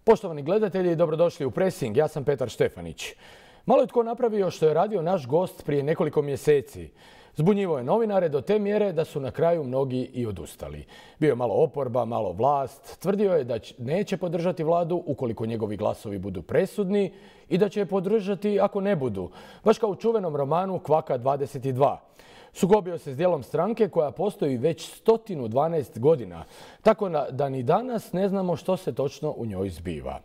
Poštovani gledatelji, dobrodošli u Pressing. Ja sam Petar Štefanić. Malo je tko napravio što je radio naš gost prije nekoliko mjeseci. Zbunjivo je novinare do te mjere da su na kraju mnogi i odustali. Bio je malo oporba, malo vlast. Tvrdio je da neće podržati vladu ukoliko njegovi glasovi budu presudni i da će je podržati ako ne budu. Baš kao u čuvenom romanu Kvaka 22. Sukobio se s dijelom stranke koja postoji već 112 godina, tako da ni danas ne znamo što se točno u njoj zbiva.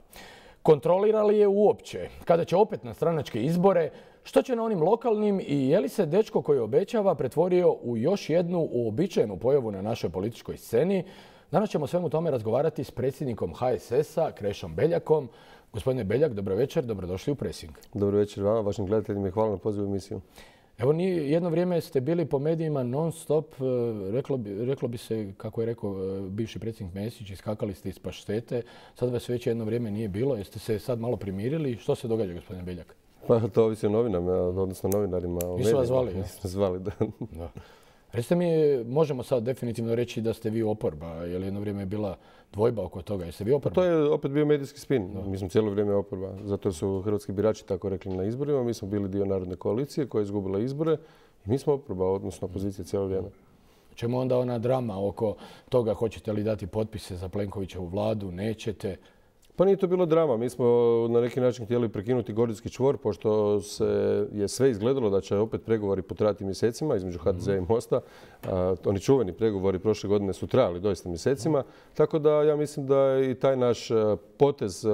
Kontrolira li je uopće? Kada će opet na stranačke izbore? Što će na onim lokalnim i je li se dečko koji obećava pretvorio u još jednu uobičajenu pojavu na našoj političkoj sceni? Danas ćemo o svemu tome razgovarati s predsjednikom HSS-a, Krešom Beljakom. Gospodine Beljak, dobro večer, dobrodošli u Pressing. Dobro večer vama, vašim gledateljima i hvala na pozivu u emisiju. Evo, jedno vrijeme ste bili po medijima non stop, reklo bi se, kako je rekao bivši predsjednik Mesić, iskakali ste iz paštete. Sad vas već jedno vrijeme nije bilo. Jeste se sad malo primirili? Što se događa, gospodine Beljak? Pa to ovisi o novinama, odnosno novinarima. Nisu vas zvali? Nisu zvali, da. Recite mi, možemo sad definitivno reći da ste vi oporba, jer jedno vrijeme je bila dvojba oko toga. Jeste vi oporba? Pa to je opet bio medijski spin. Mi smo cijelo vrijeme oporba. Zato su hrvatski birači tako rekli na izborima. Mi smo bili dio Narodne koalicije koja je izgubila izbore. I mi smo oporba, odnosno opozicija cijelo vrijeme. Čemu onda ona drama oko toga hoćete li dati potpise za Plenkovićevu vladu, nećete? Pa nije to bilo drama. Mi smo na neki način htjeli prekinuti gordijski čvor, pošto je sve izgledalo da će opet pregovori potrajati mjesecima između HDZ-a i Mosta. Oni čuveni pregovori prošle godine su trajali doista mjesecima. Tako da ja mislim da i taj naš potez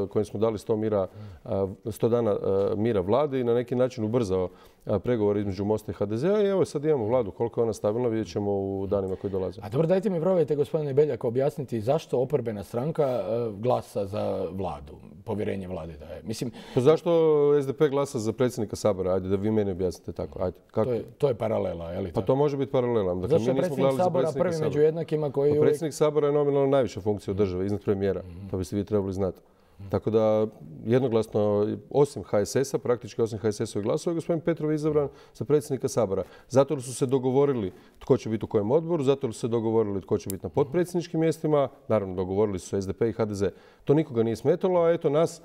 kojim smo dali 100 dana mira vladi i na neki način ubrzao pregovor između Mosta i HDZ-a i evo sad imamo vladu. Koliko je ona stabilna vidjet ćemo u danima koji dolaze. A dobro, dajte mi probajte, gospodine Beljak, objasniti zašto oporbena stranka glasa za vladu, povjerenje vlade daje. Mislim, pa zašto SDP glasa za predsjednika Sabora? Ajde da vi meni objasnite tako. Ajde, kako? To je paralela, je li? Pa to može biti paralela. Dakle, zašto je predsjednik Sabora prvi među jednakima koji... Pa predsjednik Sabora je nominalno najviša funkcija u državi, iznad premijera. To biste vi trebali znati. Tako da jednoglasno, osim HSS-a, praktički osim HSS-ovih glasova, gospodin Petrov je izabran za predsjednika Sabora. Zato su se dogovorili tko će biti u kojem odboru, zato su se dogovorili tko će biti na potpredsjedničkim mjestima. Naravno, dogovorili su SDP i HDZ. To nikoga nije smetalo, a eto nas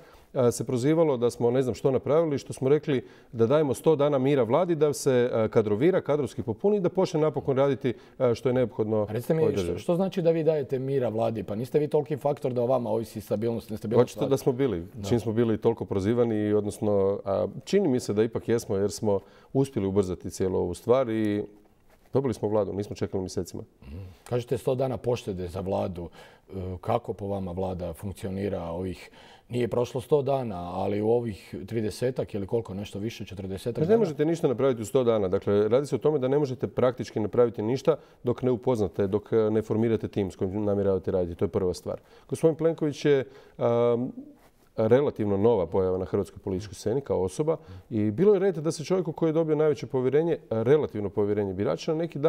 se prozivalo da smo ne znam što napravili, što smo rekli da dajemo 100 dana mira vladi, da se kadrovira, kadrovski popuni i da počne napokon raditi što je neophodno. Recite mi, što znači da vi dajete mira vladi? Pa niste vi toliki faktor da o vama ovisi stabilnost, nestabilnost vlade? Očito da smo bili. Čim smo bili toliko prozivani, odnosno čini mi se da ipak jesmo jer smo uspjeli ubrzati cijelu ovu stvar i dobili smo vladu, nismo čekali mjesecima. Kažete 100 dana poštede za vladu. Kako po vama vlada funkcionira ovih... Nije prošlo 100 dana, ali u ovih 30-ak ili koliko, nešto više, 40-ak dana? Ne možete ništa napraviti u 100 dana. Dakle, radi se o tome da ne možete praktički napraviti ništa dok ne upoznate, dok ne formirate tim s kojim namjeravate raditi. To je prva stvar. Gospodin Plenković je relativno nova pojava na hrvatskoj političkoj sceni kao osoba i bilo je red da se čovjeku koji je dobio najveće povjerenje, relativno povjerenje birača, na neki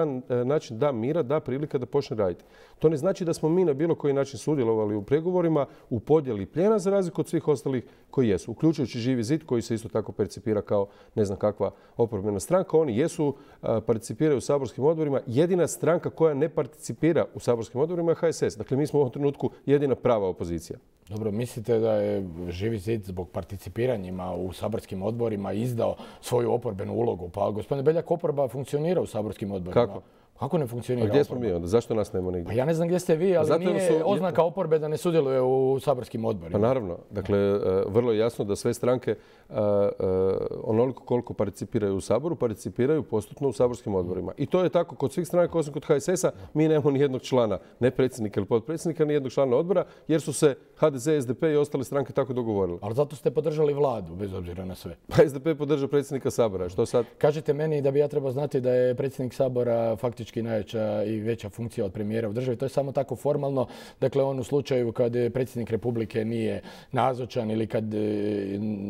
način da mira, da prilika da počne raditi. To ne znači da smo mi na bilo koji način sudjelovali u pregovorima, u podjeli plijena za razliku od svih ostalih koji jesu, uključujući Živi zid koji se isto tako percipira kao ne znam kakva oporbena stranka. Oni jesu, participiraju u saborskim odborima. Jedina stranka koja ne participira u saborskim odborima je HSS. Dakle, mi smo u ovom trenutku jedina prava opozicija. Dobro, mislite da je Živi zid zbog participiranjima u saborskim odborima izdao svoju oporbenu ulogu? Pa, gospodine Beljak, oporba funkcionira u saborskim odborima. Kako? Kako ne funkcionira oporba? Gdje smo mi onda? Zašto nas nema nigdje? Pa ja ne znam gdje ste vi, ali nije oznaka oporbe da ne sudjeluje u saborskim odborima. Pa naravno. Dakle, vrlo je jasno da sve stranke onoliko koliko participiraju u Saboru, participiraju postupno u saborskim odborima. I to je tako kod svih stranaka, osim kod HSS-a. Mi nemamo ni jednog člana, ne predsjednika ili potpredsjednika, ni jednog člana odbora, jer su se HDZ, SDP i ostale stranke tako dogovorili. Ali zato ste podržali vladu, bez obzira na sve. Pa SDP podržao predsjednika Sabora. Što sad? Kažete meni da bi ja trebao znati da je predsjednik Sabora faktički najjača i veća funkcija od premijera u državi. To je samo tako formalno. Dakle, on u slučaju kad predsjednik Republike nije nazočan ili kad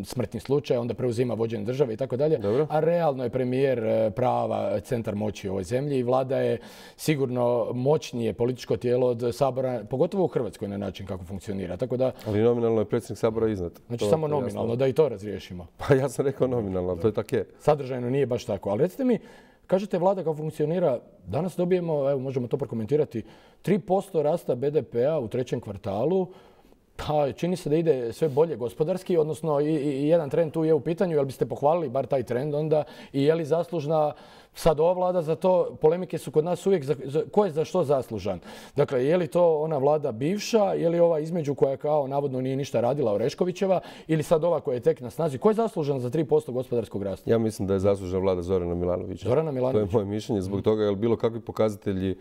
smrtni slučaj, onda preuzima vođenje države i tako dalje. A realno je premijer prava centar moći u ovoj zemlji i vlada je sigurno moćnije političko tijelo od Sabora, pogotovo u Hrvatskoj na način kako funkcionira. Tako da, ali nominalno je predsjednik Sabora iznad. Znači samo nominalno, da i to razriješimo. Pa ja sam rekao nominalno, ali to je tako je. Sadržajno nije baš tako. Ali recite mi, kažete vlada kako funkcionira, danas dobijemo, evo možemo to prokomentirati, 3% rasta BDP-a u trećem kvartalu. Pa čini se da ide sve bolje gospodarski, odnosno i jedan trend tu je u pitanju. Jel biste pohvalili bar taj trend onda i je li zaslužna sad ova vlada za to? Polemike su kod nas uvijek ko je za što zaslužan. Dakle, je li to ona vlada bivša, je li ova između koja kao navodno nije ništa radila, Oreškovićeva, ili sad ova koja je tek na snazi? Ko je zaslužan za 3% gospodarskog rasta? Ja mislim da je zaslužna vlada Zorana Milanovića. Zorana Milanovića. To je moje mišljenje. Zbog toga jer bilo kakvi pokazatelji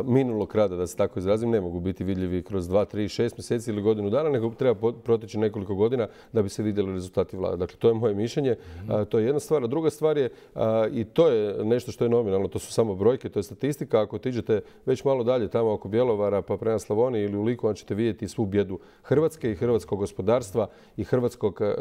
minulog rada, da se tako izrazim, ne mogu biti vidljivi kroz 2, 3, 6 mjeseci ili godinu dana, nego treba proteći nekoliko godina da bi se vidjeli rezultati vlade. Dakle, to je moje mišljenje. To je jedna stvar. A druga stvar je, i to je nešto što je nominalno, to su samo brojke, to je statistika. Ako otiđete već malo dalje tamo oko Bjelovara pa prema Slavoniji ili u Liku, onda ćete vidjeti svu bijedu Hrvatske i hrvatskog gospodarstva i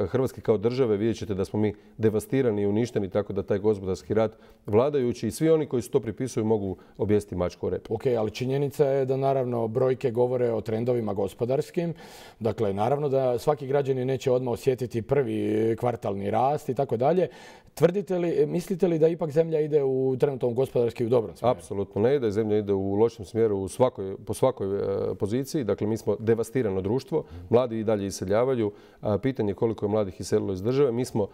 Hrvatske kao države. Vidjet ćete da smo mi devastirani i uništeni, tako da taj gospodarski rat vladajući i svi oni koji se to pripisuju mogu objesiti mačku o rep. Ok, ali činjenica je da naravno brojke govore o trendovima gospodarskim. Dakle, naravno da svaki građanin neće odmah osjetiti prvi kvartalni rast i tako dalje. Mislite li da ipak zemlja ide u trenutnom gospodarski u dobrom smjeru? Apsolutno ne ide. Zemlja ide u lošem smjeru po svakoj poziciji. Dakle, mi smo devastirano društvo. Mladi i dalje iseljavaju. Pitanje je koliko je mladih iselilo iz države. Mi smo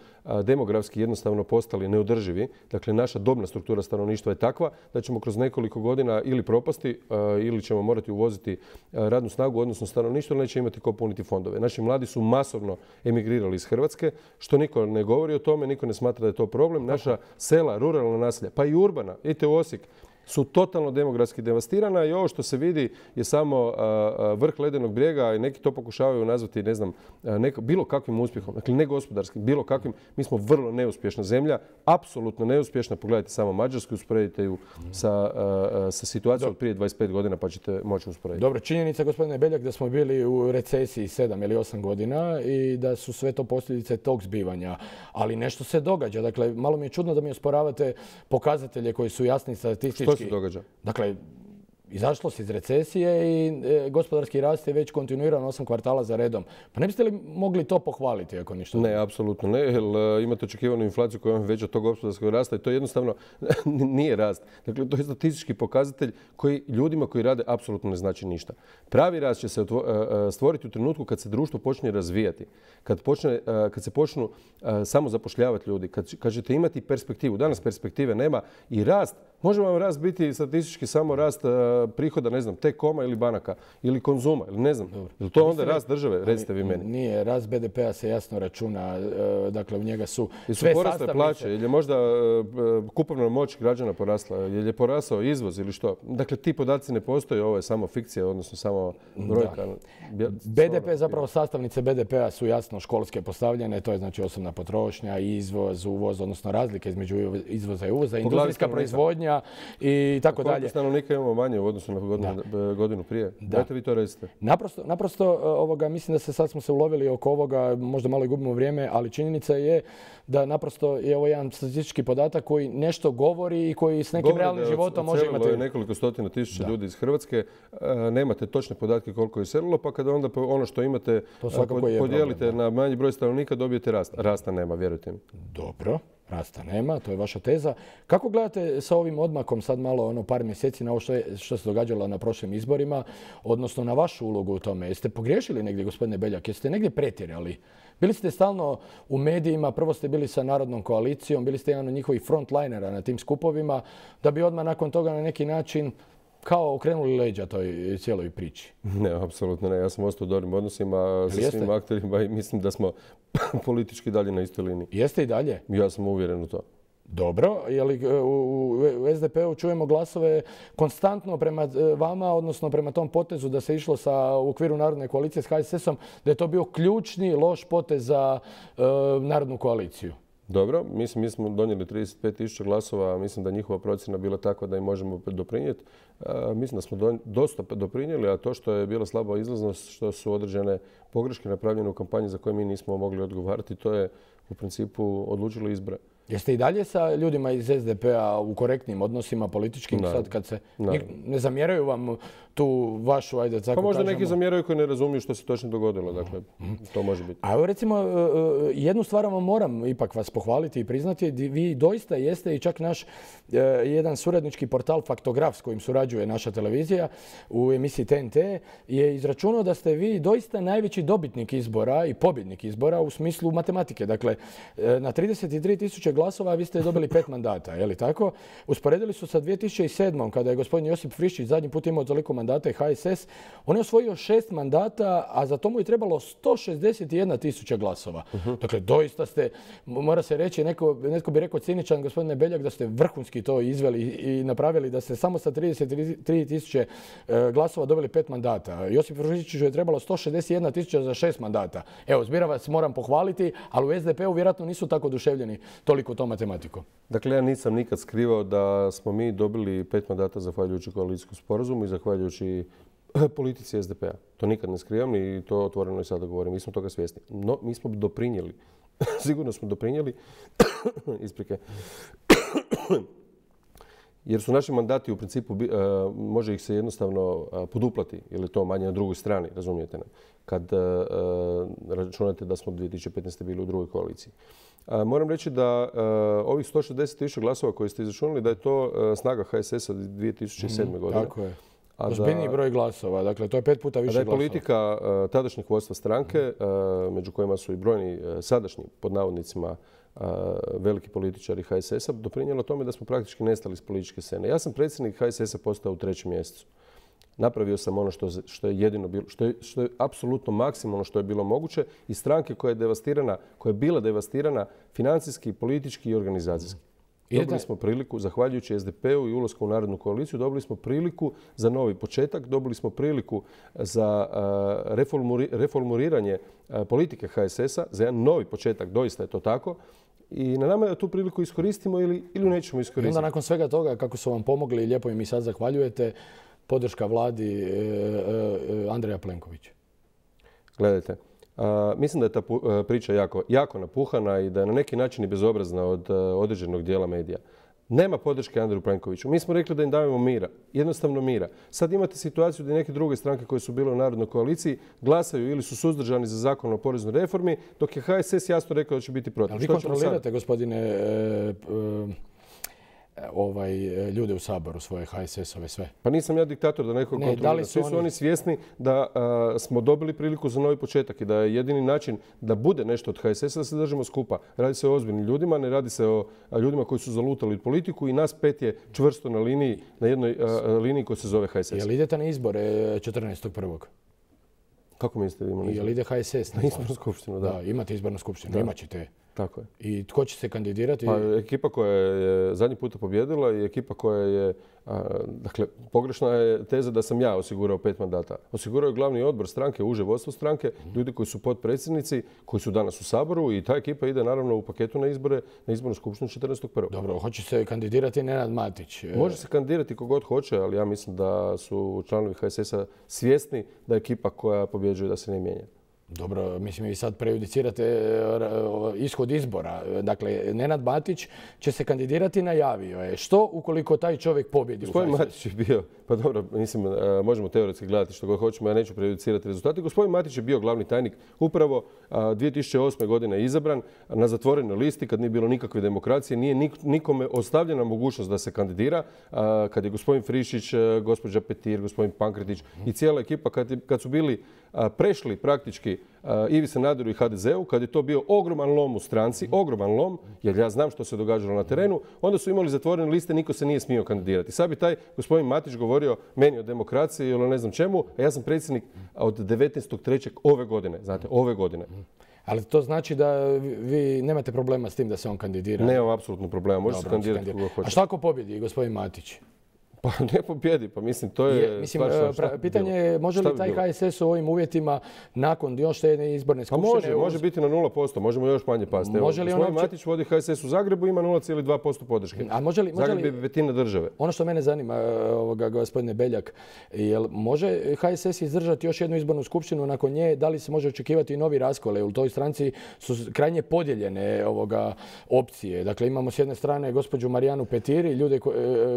demografski jednostavno postali neodrživi. Dakle, naša dobna struktura stanovništva je takva da ćemo kroz nekoliko godina ili propasti ili ćemo morati uvoziti radnu snagu, odnosno stanovništvo, ili neće imati ko puniti fondove. Naši mladi su masovno emigrirali iz Hrvatske, što niko ne govori o tome, niko ne smatra da je to problem. Naša sela, ruralna naselja, pa i urbana, idite u Osijek, su totalno demografski devastirana i ovo što se vidi je samo vrh ledenog brijega i neki to pokušavaju nazvati, ne znam, bilo kakvim uspjehom, dakle ne gospodarskim, bilo kakvim. Mi smo vrlo neuspješna zemlja, apsolutno neuspješna. Pogledajte samo Mađarsku, usporedite ju sa situacijom od prije 25 godina pa ćete moći usporediti. Dobro, činjenica, gospodine Beljak, da smo bili u recesiji 7 ili 8 godina i da su sve to posljedice tog zbivanja. Ali nešto se događa. Dakle, malo mi je čudno da mi osporavate pokazatelje koji su jasni statistički. Što se događa? Dakle, izašlo se iz recesije i gospodarski rast je već kontinuirano 8 kvartala za redom. Pa ne biste li mogli to pohvaliti ako ništa? Ne, apsolutno ne, jer imate očekivanu inflaciju koja je veća od tog gospodarskog rasta i to jednostavno nije rast. Dakle, to je statistički pokazatelj koji ljudima koji rade apsolutno ne znači ništa. Pravi rast će se stvoriti u trenutku kad se društvo počne razvijati, kad se počnu samo zapošljavati ljudi, kad ćete imati perspektivu. Danas perspektive nema i rast. Može vam rast biti statistički samo rast prihoda, ne znam, T-Coma ili banaka ili Konzuma, ili ne znam. Je li to onda rast države? Recite vi meni. Nije, rast BDP-a se jasno računa, dakle u njega su sve sastavnice. Jesu porasle plaće, ili je možda kupovna moć građana porasla, ili je porasao izvoz ili što? Dakle, ti podaci ne postoje, ovo je samo fikcija, odnosno samo brojka. BDP, zapravo sastavnice BDP-a su jasno školske postavljene, to je znači osobna potrošnja, izvoz, uvoz, odnosno razlike između izvoza i uvoza, industrijska proizvodnja i tako dalje. Koliko stanovnika imamo manje u odnosu na godinu prije? Dajte vi to recite. Naprosto, mislim da sad smo se ulovili oko ovoga, možda malo i gubimo vrijeme, ali činjenica je da naprosto je ovo jedan statistički podatak koji nešto govori i koji s nekim realnim životom može imati. Je nekoliko stotina tisuća ljudi iz Hrvatske, nemate točne podatke koliko je iselilo, pa kada onda ono što imate podijelite na manji broj stanovnika, dobijete rast. Rasta nema, vjerujte mi. Dobro. Rasta nema, to je vaša teza. Kako gledate sa ovim odmakom sad malo par mjeseci na ovo što se događalo na prošlim izborima, odnosno na vašu ulogu u tome? Jeste pogriješili negdje, gospodine Beljak? Jeste negdje pretjerali? Bili ste stalno u medijima, prvo ste bili sa Narodnom koalicijom, bili ste jedan od njihovih frontlinera na tim skupovima, da bi odmah nakon toga na neki način kao okrenuli leđa toj cijeloj priči. Ne, apsolutno ne. Ja sam ostao u dobrim odnosima sa svim akterima i mislim da smo politički dalje na istoj liniji. Jeste i dalje? Ja sam uvjeren u to. Dobro, je li u SDP-u čujemo glasove konstantno prema vama, odnosno prema tom potezu da se išlo u okviru Narodne koalicije s HSS-om, da je to bio ključni loš potez za Narodnu koaliciju? Dobro, mi smo donijeli 35.000 glasova, mislim da njihova procjena bila takva da im možemo doprinijeti. Mislim da smo dosta doprinijeli, a to što je bila slaba izlaznost, što su određene pogreške napravljene u kampanji za koje mi nismo mogli odgovarati, to je u principu odlučilo izbore. Jeste i dalje sa ljudima iz SDP-a u korektnim odnosima političkim sad kad se ne zamjeraju vam tu vašu, ajde tako kažemo? Pa možda neki zamjeraju koji ne razumiju što se točno dogodilo, dakle to može biti. A evo recimo jednu stvar vam moram ipak vas pohvaliti i priznati, vi doista jeste i čak naš jedan suradnički portal Faktograf s kojim surađuje naša televizija u emisiji TNT je izračunao da ste vi doista najveći dobitnik izbora i pobjednik izbora u smislu matematike. Dakle, na 33.000 glasova vi ste dobili 5 mandata, je li tako? Usporedili su sa 2007. kada je gospodin Josip Friščić zadnji put imao toliko mandata i HSS, on je osvojio 6 mandata, a za to mu je trebalo 161.000 glasova. Dakle, doista ste, mora se reći, netko bi rekao ciničan, gospodine Beljak, da ste vrhunski to izveli i napravili, da ste samo sa 33.000 glasova dobili 5 mandata. Josip Friščiću je trebalo 161.000 za 6 mandata. Evo, zbira vas moram pohvaliti, ali u SDP-u vjerojatno nisu tako oduševljeni toliko tom matematikom. Dakle, ja nisam nikad skrivao da smo mi dobili 5 mandata zahvaljujući koalicijskom sporazumu i zahvaljujući politici SDP-a. To nikad ne skrivam i to otvoreno i sada govorim. Mi smo toga svjesni. No, mi smo doprinijeli. Sigurno smo doprinijeli. Isprike. Jer su naši mandati u principu, može ih se jednostavno poduplati, jer je to manje na drugoj strani, razumijete me, kad računate da smo 2015. bili u drugoj koaliciji. Moram reći da ovih 160.000 glasova koje ste izračunali, da je to snaga HSS-a 2007. godine. Tako je. Ozbiljniji broj glasova, dakle to je 5 puta više glasova. Da je politika tadašnjeg vodstva stranke, među kojima su i brojni sadašnji, pod navodnicima, veliki političari HSS-a, doprinijelo tome da smo praktički nestali iz političke scene. Ja sam predsjednik HSS-a postao u 3. mjesecu. Napravio sam ono što je jedino bilo, što je apsolutno maksimalno što je bilo moguće i stranke koja je bila devastirana financijski, politički i organizacijski. Dobili smo priliku, zahvaljujući SDP-u i ulasku u Narodnu koaliciju, dobili smo priliku za novi početak, dobili smo priliku za reformuliranje politike HSS-a, za jedan novi početak, doista je to tako. I na nama je da tu priliku iskoristimo ili nećemo iskoristiti. I onda nakon svega toga, kako su vam pomogli, lijepo im i sad zahvaljujete, podrška vladi Andreja Plenkovića. Gledajte, mislim da je ta priča jako napuhana i da je na neki način i bezobrazna od određenog dijela medija. Nema podrške Andreju Plenkoviću. Mi smo rekli da im dajemo mira, jednostavno mira. Sad imate situaciju da neke druge stranke koje su bile u Narodnoj koaliciji glasaju ili su suzdržani za zakon o poreznoj reformi, dok je HSS jasno rekao da će biti protiv. Ali vi kontrolirate, gospodine, ljude u Saboru, svoje HSS-ove sve? Pa nisam ja diktator da nekog kontrolira. Svi su oni svjesni da smo dobili priliku za novi početak i da je jedini način da bude nešto od HSS-a da se držimo skupa. Radi se o ozbiljnim ljudima, ne radi se o ljudima koji su zalutali politiku i nas 5 je čvrsto na liniji, na jednoj liniji koja se zove HSS. Jel idete na izbore 14.1.? Kako mislite da imamo izbor? Jel ide HSS na izbornu skupštinu, da. Da, imate izbornu skupštinu, imat ćete. Tako je. I tko će se kandidirati? Pa ekipa koja je zadnji puta pobjedila i ekipa koja je, dakle, pogrešna je teza da sam ja osigurao 5 mandata. Osigurao je glavni odbor stranke, uže vodstvo stranke, ljudi koji su potpredsjednici, koji su danas u Saboru i ta ekipa ide naravno u paketu na izbore, na izbornu skupštinu 14.1. Dobro, hoće se kandidirati Nenad Matić? Može se kandidirati kogod hoće, ali ja mislim da su članovi HSS-a svjesni da ekipa koja pobjeđuje da se ne mijenja. Dobro, mislim vi sad prejudicirate ishod izbora. Dakle, Nenad Matić će se kandidirati, najavio je. Što ukoliko taj čovjek pobjedi u HSS? Gospodin Matić je bio, pa dobro, mislim, možemo teoretski gledati što god hoćemo, ja neću prejudicirati rezultate. Gospodin Matić je bio glavni tajnik upravo 2008. godine izabran na zatvorenoj listi kad nije bilo nikakve demokracije, nije nikome ostavljena mogućnost da se kandidira. Kad je gospodin Friščić, gospođa Petir, gospodin Pankretić i cijela ekipa kad su bili prešli praktički Ivi Sanaderu i HDZ-u, kad je to bio ogroman lom u stranci, ogroman lom, jer ja znam što se događalo na terenu, onda su imali zatvorene liste, niko se nije smio kandidirati. Sad bi taj gospodin Matić govorio meni o demokraciji ili ne znam čemu, a ja sam predsjednik od 19.3. ove godine, znate, ove godine. Ali to znači da vi nemate problema s tim da se on kandidira? Nemam apsolutno problema, može se kandidirati kako hoće. A šta ako pobjedi gospodin Matić? Pa ne pobjedi, pa mislim to je... Mislim, pitanje je može li taj HSS u ovim uvjetima nakon još jedne izborne skupštine... Pa može biti na 0%, možemo još manje pasti. Gospodin Matić vodi HSS u Zagrebu, ima 0,2% podrške. Zagreb je petina države. Ono što mene zanima, gospodine Beljak, može HSS izdržati još jednu izbornu skupštinu nakon nje? Da li se može očekivati i novi raskole? U toj stranci su krajnje podijeljene opcije. Dakle, imamo s jedne strane gospođu Marijanu Petir i ljude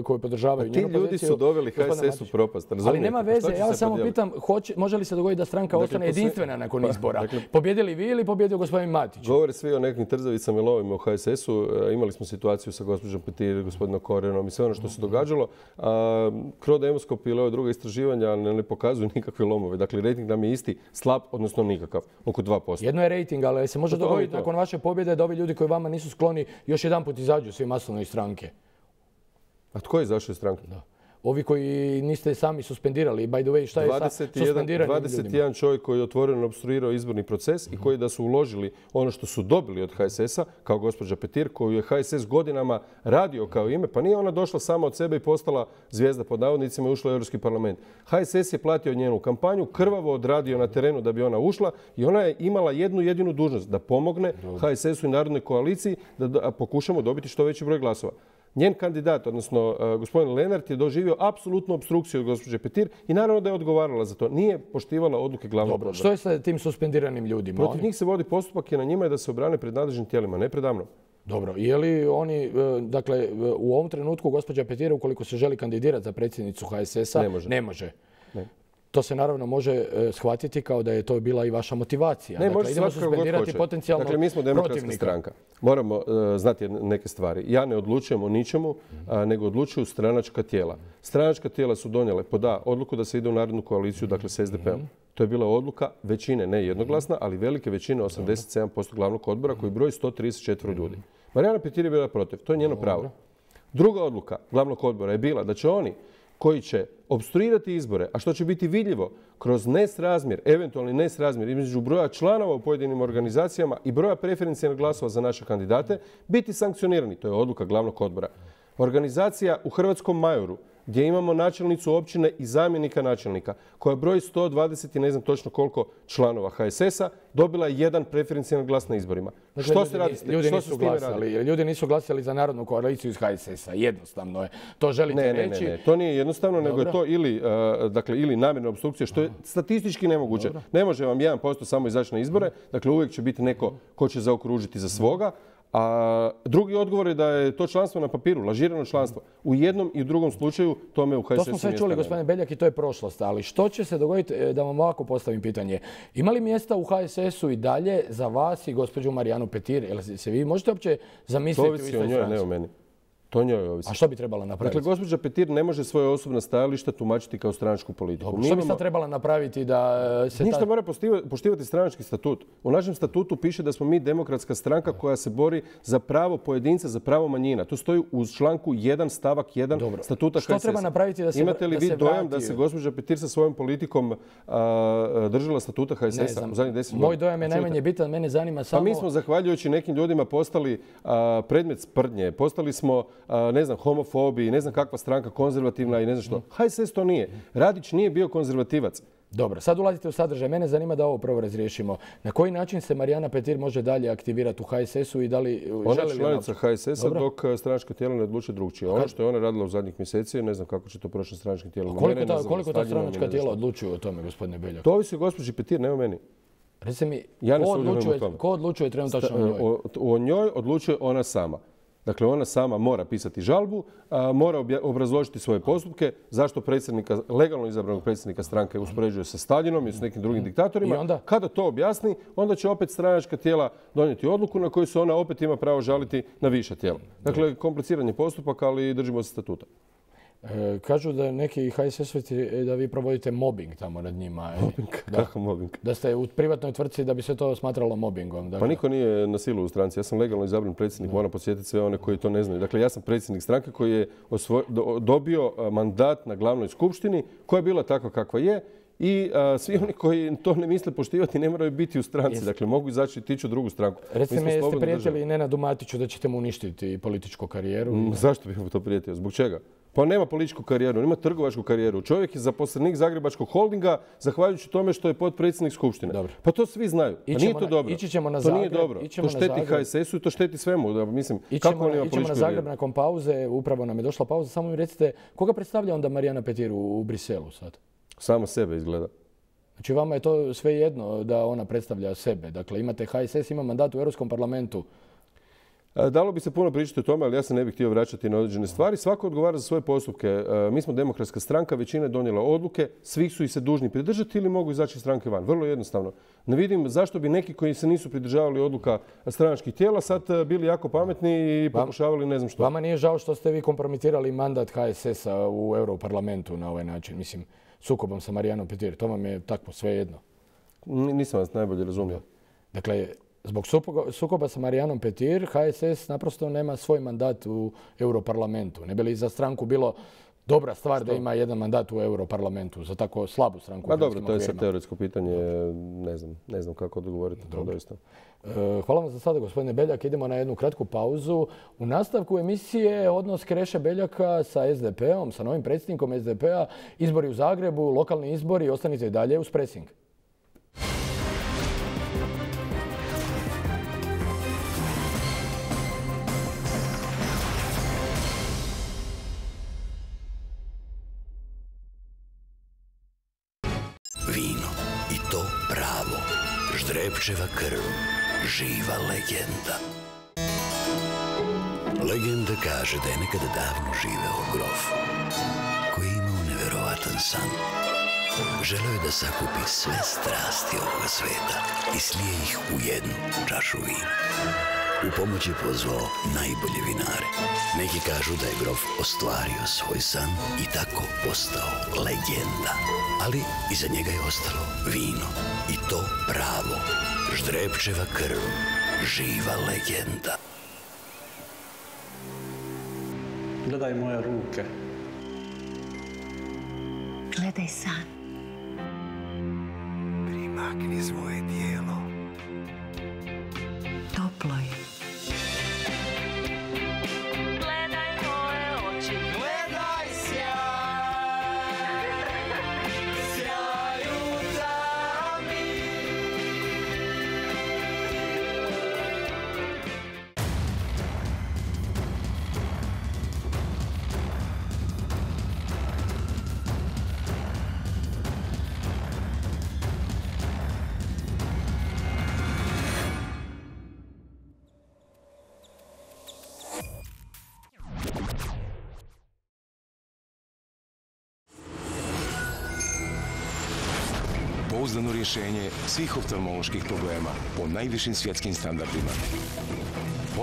koji podržavaju njenu poziciju. Ljudi su doveli HSS u propast. Ali nema veze, ja vas samo pitam, može li se dogoditi da stranka ostane jedinstvena nakon izbora? Pobjedili vi ili pobjedio gospodin Matić? Govore svi o nekim trzavicama i lovima u HSS-u. Imali smo situaciju sa gospođom Petir, gospodinom Korenom i sve ono što se događalo. Crodemoskop ili ove druge istraživanja ne pokazuju nikakve lomove. Dakle, rejting nam je isti, slab, odnosno nikakav, oko 2%. Jedno je rejting, ali se može dogoditi nakon vaše pobjede da ovi ljudi koji vama nisu skloni još jedanput izađu svi masovno iz stranke. A tko je izašao iz stranke? Ovi koji niste sami suspendirali, by the way, šta je sa suspendiranim ljudima? 21 čovjek koji je otvoreno opstruirao izborni proces i koji da su uložili ono što su dobili od HSS-a, kao gospođa Petir, koju je HSS godinama radio kao ime, pa nije ona došla sama od sebe i postala zvijezda pod navodnicima i ušla u Europski parlament. HSS je platio njenu kampanju, krvavo odradio na terenu da bi ona ušla i ona je imala jednu jedinu dužnost, da pomogne HSS-u i Narodnoj koaliciji da pokušamo dobiti što veći broj glasova. Njen kandidat, odnosno gospodin Lenart, je doživio apsolutnu opstrukciju od gospođe Petir i naravno da je odgovarala za to. Nije poštivala odluke glavnog odbora. Što je sa tim suspendiranim ljudima? Protiv njih se vodi postupak i na njima je da se obrane pred nadležnim tijelima, ne pred mnom. Dobro. Je li oni, dakle, u ovom trenutku gospođa Petir, ukoliko se želi kandidirati za predsjednicu HSS-a, ne može? Ne. To se naravno može shvatiti kao da je to bila i vaša motivacija. Ne, može idemo suspendirati potencijalno protivnika. Dakle, mi smo demokratska stranka. Moramo znati neke stvari. Ja ne odlučujem o ničemu, nego odlučuju stranačka tijela. Stranačka tijela su donijele odluku da se ide u Narodnu koaliciju, dakle s SDP-om. To je bila odluka većine, ne jednoglasna, ali velike većine, 87% glavnog odbora koji broji 134 ljudi. Marijana Petir je bila protiv. To je njeno pravo. Druga odluka glavnog odbora je bila da će oni koji će opstruirati izbore, a što će biti vidljivo kroz nesrazmjer, eventualni nesrazmjer između broja članova u pojedinim organizacijama i broja preferencijalnih glasova za naše kandidate, biti sankcionirani. To je odluka glavnog odbora. Organizacija u Hrvatskom Majoru, gdje imamo načelnicu općine i zamjenika načelnika, koja broji 120 i ne znam točno koliko članova HSS-a, dobila je jedan preferencijalni glas na izborima. Dakle, što se radi? Ljudi nisu glasali za Narodnu koaliciju iz HSS-a. Jednostavno je. To želite reći? Ne. To nije jednostavno, nego je to ili namjerna opstrukcija, što je statistički nemoguće. Ne može vam 1% samo izaći na izbore. Dakle, uvijek će biti neko ko će zaokružiti za svoga. A drugi odgovor je da je to članstvo na papiru, lažirano članstvo. U jednom i u drugom slučaju tome u HSS-u to smo sve čuli, gospodine Beljak, i to je prošlost. Ali što će se dogoditi, da vam ovako postavim pitanje, ima li mjesta u HSS-u i dalje za vas i gospođu Marijanu Petir? Jel se vi možete uopće zamisliti u istoj stranci? To ovisi o njoj, ne o meni. To njoj ovisi. A što bi trebala napraviti? Dakle, gospođa Petir ne može svoje osobna stajališta tumačiti kao stranačku politiku. Dobro, što bi sad trebala napraviti da se... Ništa mora poštivati stranački statut. U našem statutu piše da smo mi demokratska stranka koja se bori za pravo pojedinca, za pravo manjina. To stoji u članku 1 stavak 1 statuta HSS. Što treba napraviti da se vrati? Imate li vi dojam da se gospođa Petir sa svojom politikom držala statuta HSS-a u zadnjih 10 godina? Moj dojam je najmanje bitan, mene zanima samo... Pa mi smo, zahvaljujući nekim ljudima, postali predmet sprdnje. Postali smo ne znam, homofobi, ne znam kakva stranka, konzervativna i ne znam što. HSS to nije. Radić nije bio konzervativac. Dobro, sad ulazite u sadržaj. Mene zanima da ovo prvo razriješimo. Na koji način se Marijana Petir može dalje aktivirati u HSS-u i da li... Ona je članica HSS-a dok stranačka tijela ne odluče drugčije. Ono što je ona radila u zadnjih mjeseci, ne znam kako će to prošlo stranačkim tijelima. Koliko ta stranačka tijela odlučuju o tome, gospodine Beljak? To ovisi o gospođi Petir, ne o meni. Recite mi, ko odlučuje trenutačno o njoj? O njoj odlučuje ona sama. Dakle, ona sama mora pisati žalbu, mora obrazložiti svoje postupke, zašto legalno izabranog predsjednika stranke uspoređuje sa Staljinom i s nekim drugim diktatorima. Kada to objasni, onda će opet stranačka tijela donijeti odluku na koju se ona opet ima pravo žaliti na viša tijela. Dakle, kompliciran je postupak, ali držimo se statuta. Kažu da neki HSS-ovci da vi provodite mobbing tamo nad njima. Mobbing? Kako mobbing? Da ste u privatnoj tvrtci da bi se to smatralo mobbingom. Pa niko nije na silu u stranci. Ja sam legalno izabran predsjednik, moram podsjetiti sve one koji to ne znaju. Dakle, ja sam predsjednik stranke koji je dobio mandat na glavnoj skupštini koja je bila takva kakva je i svi oni koji to ne misle poštivati ne moraju biti u stranci. Dakle, mogu izaći i tići u drugu stranku. Recite mi, jeste prijetili Nenadu Matiću da ćete mu uništiti političku karijeru? Zašto bih mu to prijetio? Zbog čega? Pa on nema političku karijeru, on ima trgovačku karijeru. Čovjek je zaposlenik Zagrebačkog holdinga zahvaljujući tome što je potpredsjednik Skupštine. Dobro. Pa to svi znaju. Pa nije to dobro. Ići ćemo na to Zagreb. Nije dobro. To šteti HSS-u i to šteti svemu. Mislim, kako on ima političku Ićemo na Zagreb nakon pauze. Upravo nam je došla pauza. Samo mi recite, koga predstavlja onda Marijana Petir u Briselu sad? Samo sebe izgleda. Znači vama je to sve jedno da ona predstavlja sebe. Dakle, imate HSS, ima mandat u Europskom parlamentu. Dalo bi se puno pričati o tome, ali ja se ne bih htio vraćati na određene stvari. Svako odgovara za svoje postupke. Mi smo demokratska stranka, većina je donijela odluke, svi su ih se dužni pridržati ili mogu izaći iz stranke van. Vrlo jednostavno. Ne vidim zašto bi neki koji se nisu pridržavali odluka stranačkih tijela sad bili jako pametni i pokušavali ne znam što. Vama nije žao što ste vi kompromitirali mandat HSS-a u Europarlamentu na ovaj način? Mislim, sukobom sa Marijanom Petir. To vam je tako sve jedno. Nisam vas najbolje razumio. Dakle, zbog sukoba sa Marijanom Petir, HSS naprosto nema svoj mandat u Europarlamentu. Ne bi li za stranku bilo dobra stvar da ima jedan mandat u Europarlamentu za tako slabu stranku? Pa dobro, to je sad teoretsko pitanje. Ne znam kako odgovoriti. Hvala vam za sada, gospodine Beljak. Idemo na jednu kratku pauzu. U nastavku emisije odnos Kreše Beljaka sa SDP-om, sa novim predsjednikom SDP-a, izbori u Zagrebu, lokalni izbori. Ostanite i dalje uz Pressing. Vino, i to pravo, Ždrebčeva krv, živa legenda. Legenda kaže da je nekada davno živeo grof, koji je imao neverovatan san. Želeo je da sakupi sve strasti ovoga sveta i slije ih u jednu čašu vina. U pomoć je pozvao najbolje vinare. Neki kažu da je grof ostvario svoj san i tako postao legenda. Ali iza njega je ostalo vino i to pravo, Ždrebčeva krv, živa legenda. Gledaj moje ruke. Gledaj san. Primakni svoje tijelo. Toplo je. Gledaj moje oči. Gledaj sjaj. Sjaj u tami. Pouzdano rješenje svih oftalmoloških problema po najvišim svjetskim standardima.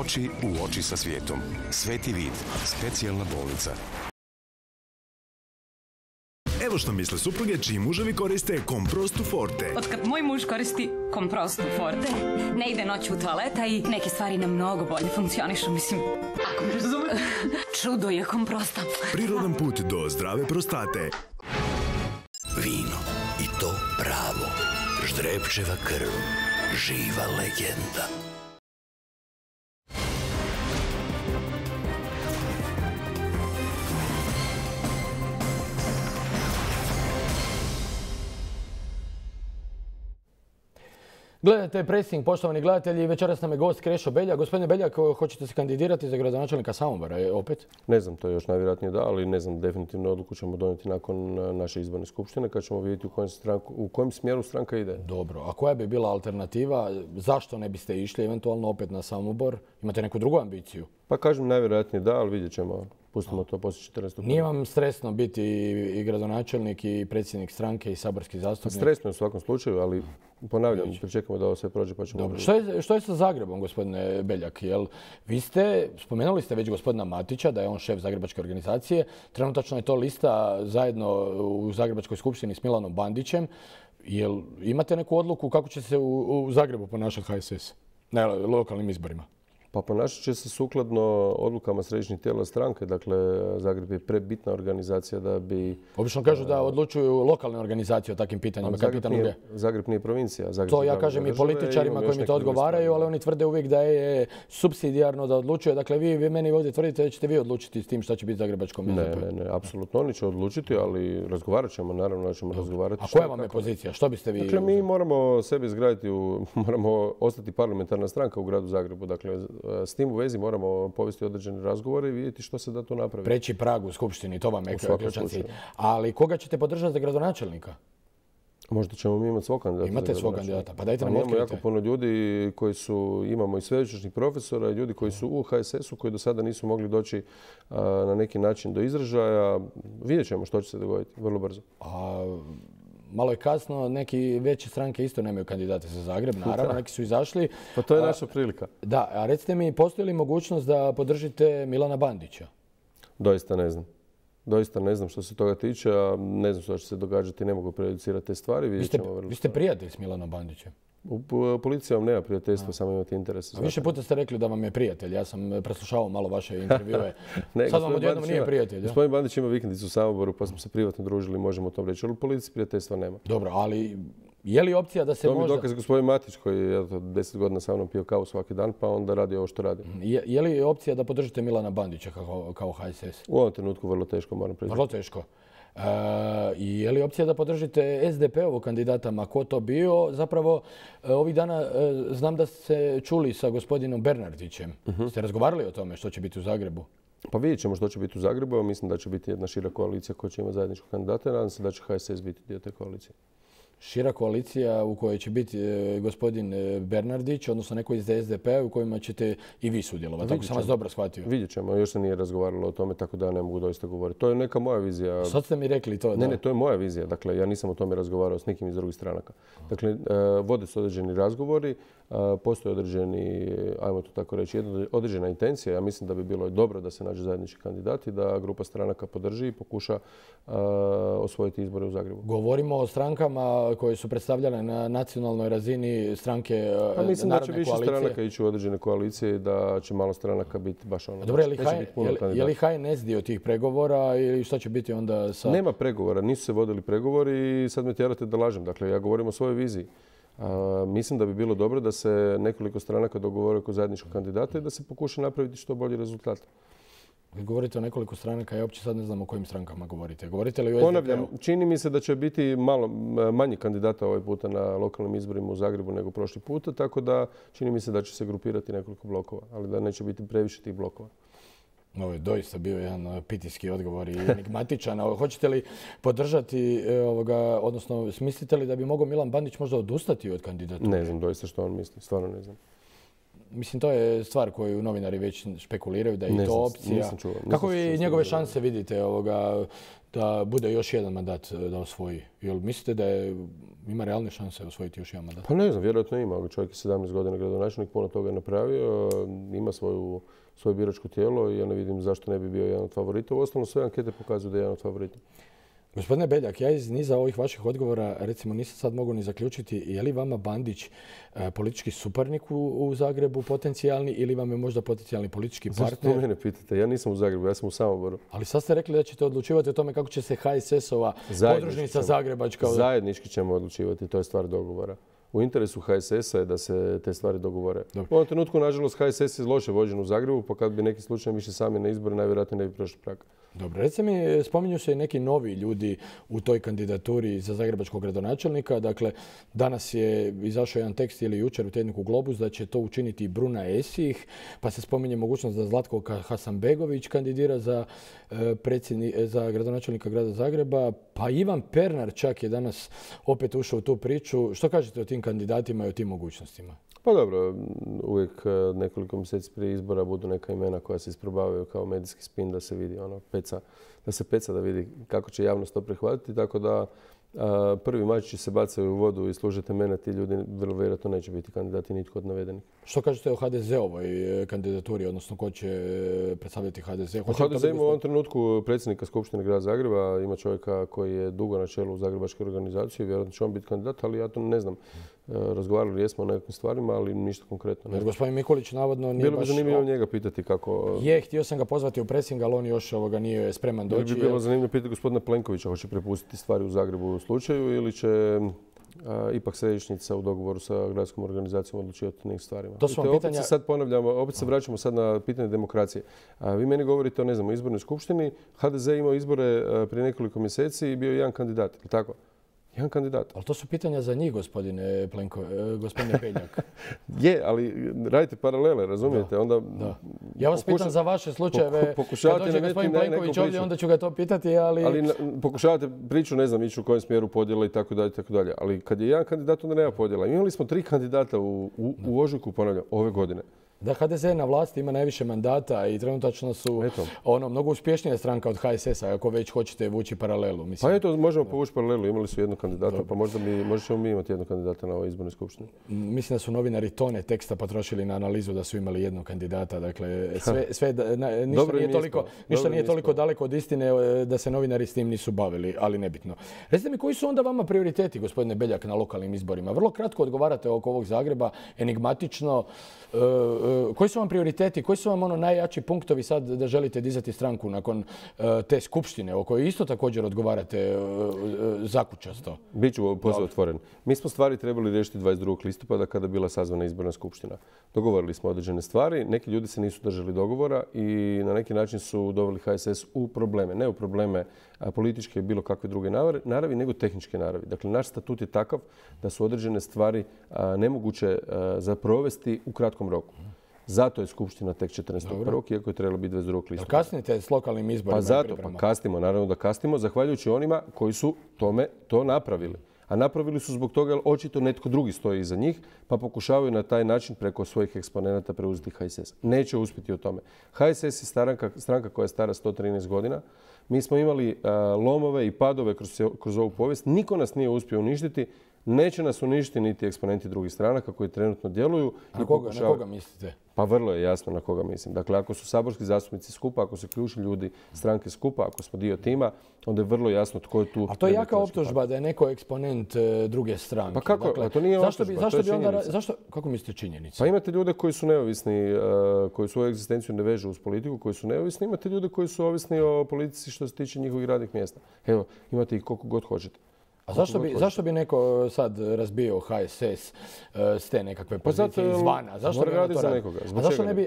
Oči u oči sa svijetom. Sveti vid. Specijalna bolnica. Evo što misle supruge čiji muževi koriste Comprostu Forte. Otkad moj muž koristi Comprostu Forte, ne ide noću u toaleta i neke stvari nam mnogo bolje funkcionišu, mislim. Ako me razumete. Čudo je Comprosta. Prirodan put do zdrave prostate. Vino, i to pravo, Ždrebčeva krv, živa legenda. Gledajte Pressing, poštovani gledatelji, večeras nam je gost Krešo Beljak. Gospodine Beljak, hoćete se kandidirati za gradonačelnika Samobora opet? Ne znam, to je još najvjerojatnije da, ali ne znam, definitivno odluku ćemo donijeti nakon naše izborne skupštine kad ćemo vidjeti u kojem smjeru stranka ide. Dobro, a koja bi bila alternativa? Zašto ne biste išli eventualno opet na Samobor? Imate neku drugu ambiciju? Pa kažem najvjerojatnije da, ali vidjet ćemo. Pustimo to poslije 14. Nije vam stresno biti i gradonačelnik i predsjednik stranke i saborski zastupnik? Stresno je u svakom slučaju, ali ponavljam, pričekamo da ovo sve prođe pa ćemo... Dobro. Što je sa Zagrebom, gospodine Beljak? Spomenuli ste već gospodina Matića, da je on šef Zagrebačke organizacije. Trenutačno je to lista zajedno u Zagrebačkoj skupštini s Milanom Bandićem. Jel imate neku odluku kako će se u Zagrebu ponašati HSS na lokalnim izborima? Pa ponašat će se sukladno odlukama središnjih tijela stranke. Dakle, Zagreb je prebitna organizacija da bi... Obično kažu da odlučuju lokalne organizacije o takvim pitanjima. Zagreb nije provincija. To ja kažem i političarima koji mi to odgovaraju, ali oni tvrde uvijek da je supsidijarno da odlučuje. Dakle, vi meni ovdje tvrdite da ćete vi odlučiti s tim šta će biti zagrebačkom SDP-u. Ne, apsolutno oni će odlučiti, ali razgovarat ćemo, naravno da ćemo razgovarati. A koja vam je pozicija? Što biste vi... Dakle, mi moramo sebe izgraditi, moramo ostati parlamentarna stranka u gradu Zagrebu. Dakle, s tim u vezi moramo povesti određene razgovore i vidjeti što se da to napravi. Preći prag u skupštini, to vam je ključan cilj. Ali koga ćete podržati za gradonačelnika? Možda ćemo mi imati svog kandidata. Imate svog kandidata, pa dajte nam otkrite. Imamo jako puno ljudi koji su, imamo i sveučilišnih profesora i ljudi koji su u HSS-u koji do sada nisu mogli doći na neki način do izražaja. Vidjet ćemo što će se dogoditi vrlo brzo. Malo je kasno, neki veće stranke isto nemaju kandidate za Zagreb, naravno, neki su izašli. Pa to je naša prilika. Da, a recite mi, postoji li mogućnost da podržite Milana Bandića? Doista ne znam. Doista ne znam što se toga tiče, a ne znam što će se događati, ne mogu prejudicirati te stvari. Vi ste prijatelj s Milanom Bandićem? Policija vam nema prijateljstva, samo imate interese. Više puta ste rekli da vam je prijatelj. Ja sam preslušavao malo vaše intervjue. Sad vam odjednom nije prijatelj. Gospodin Bandić ima vikendicu u Samoboru, pa smo se privatno družili, možemo o tom reći. Ali u policiji prijateljstva nema. Dobro, ali je li opcija da se možda... To mi dokaz gospodin Matić koji je 10 godina sa mnom pio kavu svaki dan, pa onda radi ovo što radi. Je li opcija da podržite Milana Bandića kao HSS? U ovom trenutku vrlo teško, moram priznati. Vrlo teško. Je li opcija da podržite SDP-ovog kandidata, ma ko to bio? Zapravo, ovih dana znam da ste čuli sa gospodinom Bernardićem. Ste razgovarali o tome što će biti u Zagrebu? Pa vidjet ćemo što će biti u Zagrebu. Mislim da će biti jedna šira koalicija koja će imati zajedničkog kandidata. Nadam se da će HSS biti dio te koalicije. Šira koalicija u kojoj će biti gospodin Bernardić, odnosno neko iz SDP-a u kojima ćete i vi sudjelovati. Tako sam vas dobro shvatio. Vidjet ćemo, još se nije razgovaralo o tome, tako da ne mogu doista govoriti. To je neka moja vizija. Sad ste mi rekli to. Ne, to je moja vizija. Dakle, ja nisam o tome razgovarao s nikim iz drugih stranaka. Dakle, vode se određeni razgovori, postoji određeni, ajmo to tako reći, određena intencija. Ja mislim da bi bilo dobro da se nađe zajednički kandidat i da grupa stranaka podrži i pokuša osvojiti izbore u Zagrebu. Govorimo o strankama koje su predstavljane na nacionalnoj razini stranke narodne koalicije. Mislim da će više stranaka ići u određene koalicije i da će malo stranaka biti baš ono. Dobro, je li HNS dio tih pregovora ili šta će biti onda sa... Nema pregovora, nisu se vodili pregovori i sad me tjerate da lažem. Dakle, ja govorim o svojoj viziji. Mislim da bi bilo dobro da se nekoliko stranaka dogovore oko zajedničkog kandidata i da se pokuša napraviti što bolji rezultat. Vi govorite o nekoliko stranaka, ja uopće sad ne znam o kojim strankama govorite. Govorite li o SDP-u? Ponavljam, čini mi se da će biti malo manje kandidata ovaj puta na lokalnim izborima u Zagrebu nego prošli puta, tako da čini mi se da će se grupirati nekoliko blokova, ali da neće biti previše tih blokova. Ovo je doista bio jedan pitijski odgovor i enigmatičan. Hoćete li podržati, odnosno mislite li da bi mogao Milan Bandić možda odustati od kandidature? Ne znam doista što on misli, stvarno ne znam. Mislim, to je stvar koju novinari već špekuliraju, da je to opcija. Nisam čuo. Kako vi njegove šanse vidite da bude još jedan mandat da osvoji? Jel mislite da ima realne šanse osvojiti još jedan mandat? Pa ne znam, vjerojatno ima. Čovjek je 17 godina gradonačelnik, puno toga je napravio, ima svoje biračko tijelo i ja ne vidim zašto ne bi bio jedan od favorita. Uostalom, sve ankete pokazuju da je jedan od favorita. Gospodine Beljak, ja iz niza ovih vaših odgovora recimo nisam sad mogao ni zaključiti je li vama Bandić politički suparnik u Zagrebu potencijalni ili vam je možda potencijalni politički partner? Zašto mene pitate? Ja nisam u Zagrebu, ja sam u Samoboru. Ali sad ste rekli da ćete odlučivati o tome kako će se HSS-ova podružnica Zagrebačka... Zajednički ćemo odlučivati, to je stvar dogovora. U interesu HSS-a je da se te stvari dogovore. U ovom trenutku, nažalost, HSS je loše vođen u Zagrebu, pa kad bi neki slučaj više sami na izbore, najvjerojatnije ne bi prošli prag. Dobro, recite mi, spominju se i neki novi ljudi u toj kandidaturi za zagrebačkog gradonačelnika. Dakle, danas je izašao jedan tekst ili jučer u tjedniku Globus da će to učiniti Bruna Esih, pa se spominje mogućnost da Zlatko Hasanbegović kandidira za gradonačelnika grada Zagreba, pa Ivan Pernar čak je danas opet ušao u tu priču. Što kažete o tim kandidatima i o tim mogućnostima? Pa dobro, uvijek nekoliko mjeseci prije izbora budu neka imena koja se isprobavaju kao medijski spin da se vidi da se peca da vidi kako će javnost to prihvatiti. Tako da prvi mačići se bacaju u vodu i služite mene, ti ljudi vrlo vjerojatno neće biti kandidati nitko od navedenih. Što kažete o HDZ-ovoj kandidaturi, odnosno ko će predstavljati HDZ? HDZ ima u ovom trenutku predsjednika Skupštine grada Zagreba, ima čovjeka koji je dugo na čelu Zagrebačke organizacije, vjerojatno će on biti kandidat, ali ja to ne znam. razgovarali jesmo o nekakvim stvarima, ali ništa konkretno. Jer gospodin Mikulić navodno nije Bilo bi baš... zanimljivo njega pitati kako... Htio sam ga pozvati u pressing, ali on još nije spreman doći. Bi bilo zanimljivo pitati gospodina Plenkovića hoće prepustiti stvari u Zagrebu u slučaju ili će ipak središnjica u dogovoru sa gradskom organizacijom odlučivati o nekim stvarima. To su vam pitanja... Opet se sad ponavljamo, opet se vraćamo sad na pitanje demokracije. Vi meni govorite o, ne znam, o izbornoj skupštini. HDZ imao izbore prije nekoliko mjeseci i bio jedan kandidat, ili tako? Jedan kandidat. Ali to su pitanja za njih, gospodine Beljak. Je, ali radite paralele, razumijete? Onda ja vas pitam za vaše slučajeve. Kad dođe gospodin Plenković ovdje, onda ću ga to pitati, ali... Ali pokušavate priču, ne znam, ići u kojem smjeru podjela i tako dalje, tako dalje. Ali kad je jedan kandidat, onda nema podjela. Imali smo 3 kandidata u ožujku, ponavljam, ove godine. Da, HDZ na vlasti ima najviše mandata i trenutačno su mnogo uspješnija stranka od HSS-a, ako već hoćete vući paralelu. Mislim. Pa eto, možemo povući paralelu. Imali su jednog kandidata, pa možda ćemo mi imati jednog kandidata na ovoj izbornoj skupštini. Mislim da su novinari tone teksta potrošili na analizu da su imali jednog kandidata. Dakle, ništa nije toliko daleko od istine da se novinari s tim nisu bavili, ali nebitno. Recite mi, koji su onda vama prioriteti, gospodine Beljak, na lokalnim izborima? Vrlo kratko odgovarate oko ovog Zagreba, enigmatično. Koji su vam prioriteti, koji su vam najjači punktovi sad da želite dizati stranku nakon te skupštine o kojoj isto također odgovarate zakučasto? Biću posve otvoren. Mi smo stvari trebali riješiti 22. listopada kada je bila sazvana izborna skupština. Dogovorili smo određene stvari, neki ljudi se nisu držali dogovora i na neki način su doveli HSS u probleme. Ne u probleme političke i bilo kakve druge naravi, nego tehničke naravi. Dakle, naš statut je takav da su određene stvari nemoguće za provesti u kratkom roku. Zato je skupština tek 14.1. iako je trebalo biti 22. listopada. Kasnite s lokalnim izborima? Pa zato, kasnimo, naravno da kasnimo, zahvaljujući onima koji su to napravili. A napravili su zbog toga jer očito netko drugi stoji iza njih, pa pokušavaju na taj način preko svojih eksponenata preuzeti HSS. Neće uspjeti o tome. HSS je stranka koja je stara 113 godina. Mi smo imali lomove i padove kroz ovu povijest. Niko nas nije uspio uništiti. Neće nas uništiti niti eksponenti drugih stranaka koji trenutno djeluju. Na koga mislite? Pa vrlo je jasno na koga mislim. Dakle, ako su saborski zastupnici skupa, ako su ključni ljudi stranke skupa, ako smo dio tima, onda je vrlo jasno tko je tu. A to je jaka optužba da je neko eksponent druge stranke. Pa kako? Dakle, to nije optužba, to je činjenica. Kako mislite činjenica? Pa imate ljude koji su neovisni, koji svoju egzistenciju ne vežu uz politiku, koji su neovisni. Imate ljude koji su ovisni o politici što se tiče njihovih radnih mjesta. Evo, imate ih koliko god hoćete. A zašto bi neko sad razbio HSS s te nekakve pozicije izvana?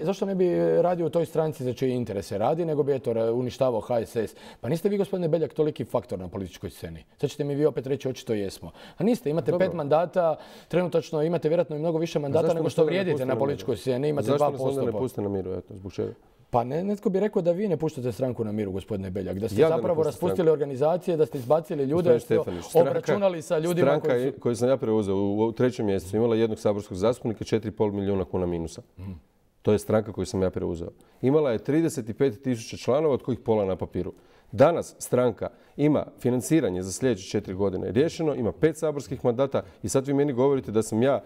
Zašto ne bi radio u toj stranci za čije interese radi, nego bi uništavao HSS? Pa niste vi, gospodine Beljak, toliki faktor na političkoj sceni. Sad ćete mi vi opet reći očito jesmo. A niste, imate 5 mandata, trenutačno imate vjerojatno i mnogo više mandata nego što vrijedite na političkoj sceni. Imate 2%. Zašto nas onda ne puste na miru? Eto, zbog čega? Pa netko bi rekao da vi ne puštate stranku na miru, gospodine Beljak. Da ste zapravo raspustili organizacije, da ste izbacili ljude, da ste obračunali sa ljudima stranka koju sam ja preuzeo u 3. mjesecu imala jednog saborskog zastupnika, 4,5 milijuna kuna minusa. To je stranka koju sam ja preuzeo. Imala je 35.000 članova, od kojih pola na papiru. Danas stranka ima financiranje za sljedeće 4 godine riješeno, ima 5 saborskih mandata i sad vi meni govorite da sam ja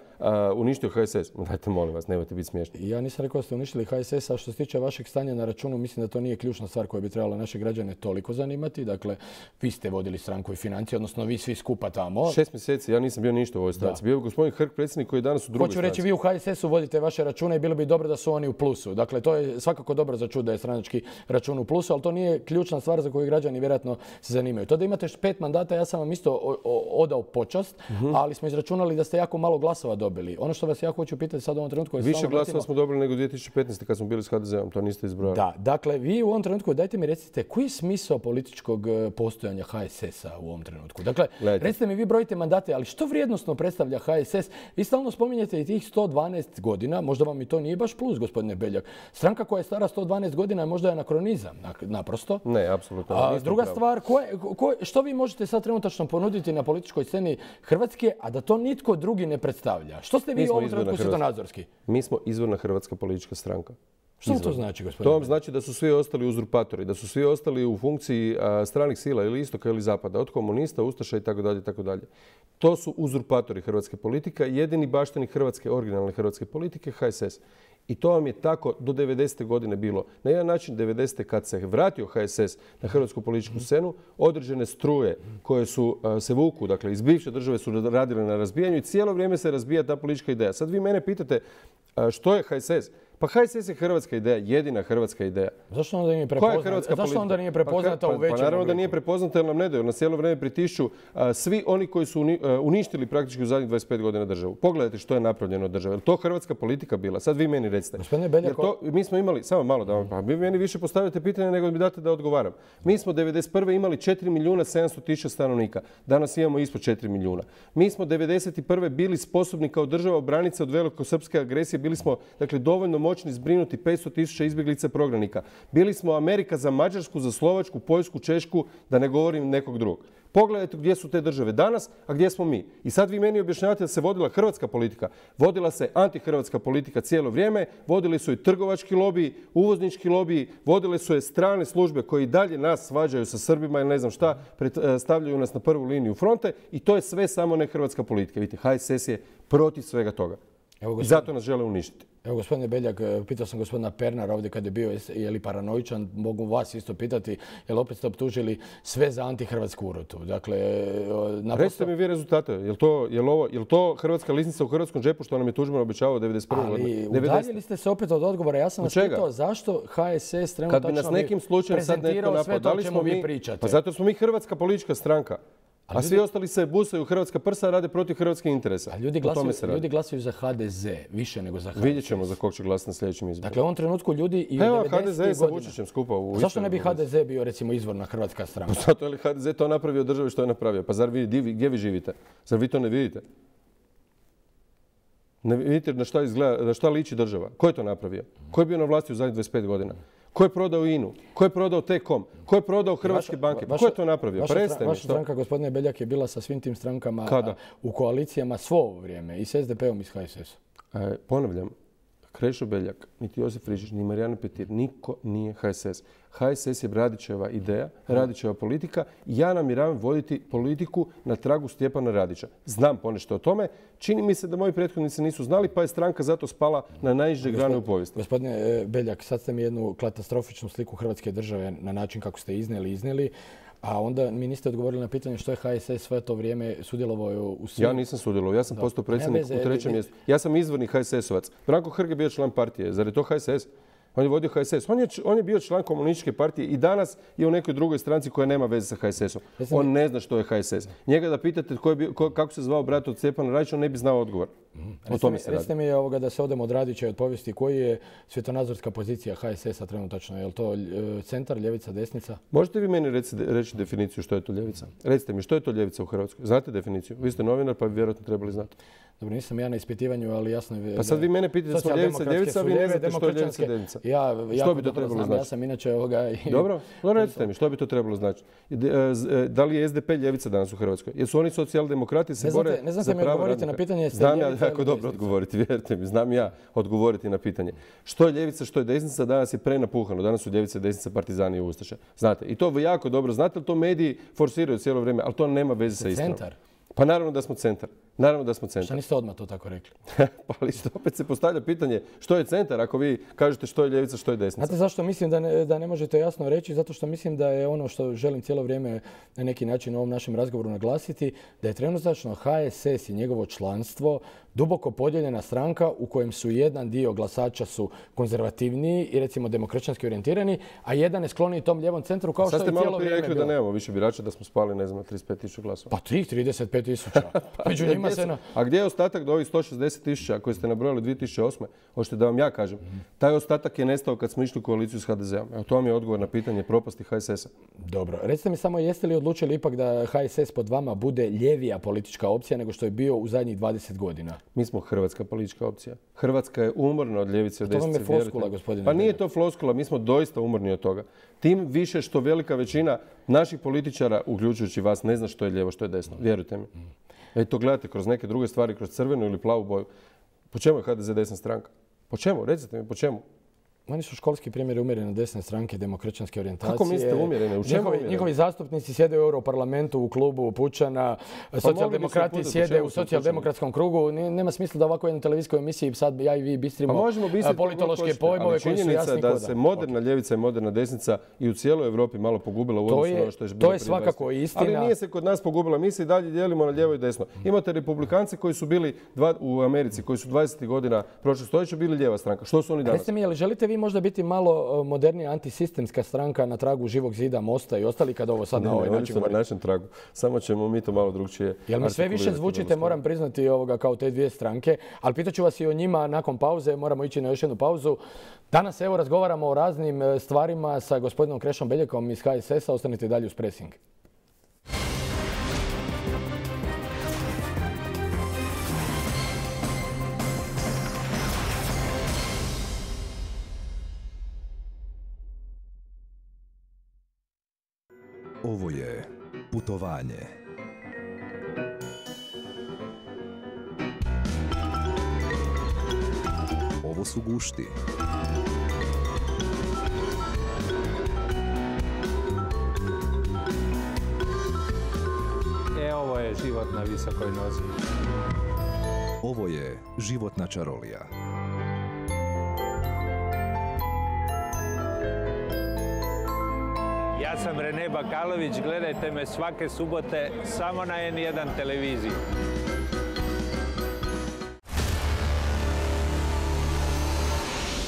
uništio HSS. Dajte, molim vas, nemojte biti smiješni. Ja nisam rekao da ste uništili HSS, a što se tiče vašeg stanja na računu, mislim da to nije ključna stvar koja bi trebala naše građane toliko zanimati. Dakle, vi ste vodili stranku i financije, odnosno vi svi skupa tamo. 6 mjeseci, ja nisam bio ništa u ovoj stranci. Bio je gospodin Hrg, predsjednik koji je danas u drugoj stranci. Hoću reći, vi u HSS-u vodite vaše račune i bilo bi dobro da su oni u plusu. Dakle, to je svakako dobro za čuti da je stranački račun u plusu, ali to nije ključna stvar za koju građani vjerojatno se zanimaju. To da imate 5 mandata, ja sam vam isto odao počast, ali smo izračunali da ste jako malo glasova dobili. Ono što vas ja hoću pitati sad u ovom trenutku... Više glasova smo dobili nego 2015. kad smo bili s HDZ-om, to niste izbrojali. Da, dakle, vi u ovom trenutku, dajte mi recite, koji je smisao političkog postojanja HSS-a u ovom trenutku? Dakle, recite mi, vi brojite mandate, ali što vrijednosno predstavlja HSS? Vi stalno spominjete i tih 112 godina, možda vam i to nije baš plus, gospodine Beljak. Stranka koja je stara 112 godina je možda anakronizam, naprosto. Ne, apsolutno. Druga stvar, što vi možete sad trenutačno ponuditi na političkoj sceni Hrvatske, a da to nitko drugi ne predstavlja? Što ste vi u ovom trenutku svjetonazorski? Mi smo izvorna hrvatska politička stranka. Što to znači, gospodine? To vam znači da su svi ostali uzurpatori, da su svi ostali u funkciji stranih sila ili istoka ili zapada, od komunista, ustaša itd. To su uzurpatori hrvatske politike, jedini bašteni hrvatske, originalne hrvatske politike, HSS. I to vam je tako do 90. godine bilo. Na jedan način 90. kad se vratio HSS na hrvatsku političku scenu, određene struje koje su se vuku, dakle iz bivše države su radile na razbijanju i cijelo vrijeme se razbija ta politička ideja. Sad vi mene pitate što je HSS? Pa HSS je hrvatska ideja, jedina hrvatska ideja. Zašto onda nije prepoznata? Zašto onda nije prepoznata u većem obliku? Pa naravno da nije prepoznata jer nam ne daju. Na cijelo vrijeme pritišću svi oni koji su uništili praktički u zadnjih 25 godina državu. Pogledajte što je napravljeno od države. Je li to hrvatska politika bila? Sad vi meni recite. Gospodine Beljak, mi smo imali, samo malo da vam, vi meni više postavljate pitanje nego mi date da odgovaram. Mi smo 91. imali 4.700.000 stanovnika. Danas imamo ispod 4 milijuna. Mi smo 91. bili sposobni kao država obraniti se od velikosrpske agresije. Bili smo dakle dovoljno moćni zbrinuti 500.000 izbjeglica prognanika. Bili smo Amerika za Mađarsku, za Slovačku, Poljsku, Češku, da ne govorim nekog drugog. Pogledajte gdje su te države danas, a gdje smo mi. I sad vi meni objašnjavate da se vodila hrvatska politika. Vodila se antihrvatska politika cijelo vrijeme, vodili su i trgovački lobiji, uvoznički lobiji, vodile su je strane službe koji dalje nas svađaju sa Srbima ili ne znam šta, stavljaju nas na prvu liniju fronte i to je sve samo ne hrvatska politika. Vidite, HSS je protiv svega toga. I zato nas žele uništiti. Evo, gospodine Beljak, pitao sam gospodina Pernara ovdje kad je bio, je li paranoičan, mogu vas isto pitati, jer opet ste optužili sve za antihrvatsku urotu. Dakle, recite mi vi rezultate. Je li to hrvatska lisnica u hrvatskom džepu što nam je Tuđman obećavao 91. godine? Ali udaljili ste se opet od odgovora. Ja sam vas pitao zašto HSS trenutačno prezentirao sve to o čemu vi pričate. Pa zato smo mi hrvatska politička stranka. A svi ostali se busaju hrvatska prsa, a rade protiv hrvatskih interesa. Ljudi glasuju za HDZ više nego za HSS. Vidjet ćemo za kog će glasati na sljedećim izborima. Dakle, u ovom trenutku ljudi i u 90. godina... HDZ je sa Vučićem skupa u... Zašto ne bi HDZ bio recimo izvorna hrvatska stranka? Pa zato je li HDZ to napravio državi što je napravio? Pa zar vi, gdje vi živite? Zar vi to ne vidite? Ne vidite na šta liči država? Ko je to napravio? Ko je bio na vlasti u zadnjih 25 godina? Ko je prodao INA-u? Ko je prodao T-Com? Ko je prodao hrvatske banke? Ko je to napravio? Vaša stranka, gospodine Beljak, je bila sa svim tim strankama u koalicijama svo ovo vrijeme. I s SDP-om i s HSS-om. Ponavljam, Krešo Beljak, niti Josip Frižžić, ni Marijana Petir, niko nije HSS. HSS je Radićeva ideja, Radićeva politika i ja namjeravam voditi politiku na tragu Stjepana Radića. Znam ponešto o tome. Čini mi se da moji prethodnici nisu znali, pa je stranka zato spala na najniže grane u povijesti. Gospodine Beljak, sad ste mi jednu katastrofičnu sliku Hrvatske države na način kako ste iznijeli, a onda mi niste odgovorili na pitanje što je HSS sve to vrijeme sudjelovao u svim... Ja nisam sudjelovao, ja sam postao predsjednik u 3. mjestu. Ja sam izvorni HSS-ovac. Branko Hrg je bio član partije, zar je to HSS? On je vodio HSS. On je bio član komunističke partije i danas je u nekoj drugoj stranci koja nema veze sa HSS-om. On ne zna što je HSS. Njega da pitate kako se zvao brat od Stjepana Radića, on ne bi znao odgovor. O tome se radi. Recite mi da se odemo od Radića i od povijesti. Koji je svjetonazorska pozicija HSS-a trenutačno? Je li to centar, ljevica, desnica? Možete vi meni reći definiciju što je to ljevica? Recite mi što je to ljevica u Hrvatskoj? Znate definiciju? Vi ste novinar pa bi vjerojatno trebali znati. Dobro, nisam ja na ispitivanju, ali jasno je... Pa sad vi mene pitate smo ljevica, a vi ne znate što je ljevica, desnica. Što bi to trebalo znači? Ja sam inače Dobro, recite mi, što bi to trebalo znači? Da li je SDP ljevica danas u Hrvatskoj? Jesu oni socijaldemokrati se bore za pravo radnika? Ne znate mi odgovoriti na pitanje... Znam ja jako dobro odgovoriti, vjerujte mi, znam ja odgovoriti na pitanje. Što je ljevica, što je desnica, danas je prenapuhano. Danas su ljevice, desnica, partizani i ustaše. Znate, i to jako dobro znate, ali to mediji forsiraju cijelo vrijeme, ali to nema veze sa istinom. Pa naravno da smo centar. Šta niste odmah to tako rekli? Pa ali opet se postavlja pitanje što je centar ako vi kažete što je ljevica, što je desnica. Znate zašto mislim da ne možete jasno reći? Zato što mislim da je ono što želim cijelo vrijeme na neki način u ovom našem razgovoru naglasiti, da je trenutačno HSS i njegovo članstvo duboko podijeljena stranka u kojem su jedan dio glasača su konzervativniji i recimo demokršćanski orijentirani, a jedan je skloniji tom lijevom centru kao što je cijelo vrijeme bilo. Sad ste malo prije rekli da nemamo više birača, da smo spali, ne znam, 35.000 glasova. Pa tih 35.000. Među njima se... A gdje je ostatak do ovih 160.000 koje ste nabrojali 2008. Hoćete da vam ja kažem. Taj ostatak je nestao kad smo išli u koaliciju s HDZ-om. Evo, to vam je odgovor na pitanje propasti HSS-a. Dobro. Recite mi samo, jeste li odlučili ipak da HSS pod vama bude ljevija politička opcija nego što je bio u zadnjih 20 godina? Mi smo hrvatska politička opcija. Hrvatska je umorna od ljevice od desnice. To vam je floskula, gospodine. Pa nije to floskula, mi smo doista umorni od toga. Tim više što velika većina naših političara, uključujući vas, ne zna što je lijevo, što je desno. Vjerujte mi. To gledate kroz neke druge stvari, kroz crvenu ili plavu boju. Po čemu je HDZ desna stranka? Po čemu? Recite mi, po čemu? Oni su školski primjeri umjerene desne stranke, demokršćanske orijentacije. Kako mislite umjerene? U čemu umjerene? Njihovi zastupnici sjede u Europarlamentu, u klubu Pučana, socijaldemokrati sjede u socijaldemokratskom krugu. Nema smisla da ovako jednoj televizijskoj emisiji sad ja i vi bistrimo politološke pojmove koji su jasni koda. Da se moderna ljevica i moderna desnica i u cijeloj Europi malo pogubila u odnosu na ono što je bilo. To je svakako istina. Ali nije se kod nas pogubila. Mi se i dalje dijelimo na lijevo i desno. Imate republikanci koji su bili u Americi, koji su 20. godina prošlog stoljeća bili lijeva stranka. Što su oni danas? Recite mi, jel želite vi možda biti malo modernija antisistemska stranka na tragu Živog zida, Mosta i ostali kad ovo sad na ovaj način govorite? Na našem tragu. Samo ćemo mi to malo drugčije. Jel mi sve više zvučite, moram priznati, kao te dvije stranke, ali pitaću vas i o njima nakon pauze, moramo ići na još jednu pauzu. Danas evo razgovaramo o raznim stvarima sa gospodinom Krešom Beljakom iz HSS-a. Ostanite dalje uz Pressing. Ovo je putovanje. Ovo su gušti. Ovo je život na visokoj nozi. Ovo je životna čarolija. Ja sam Rene Bakalović, gledajte me svake subote samo na N1 televiziji.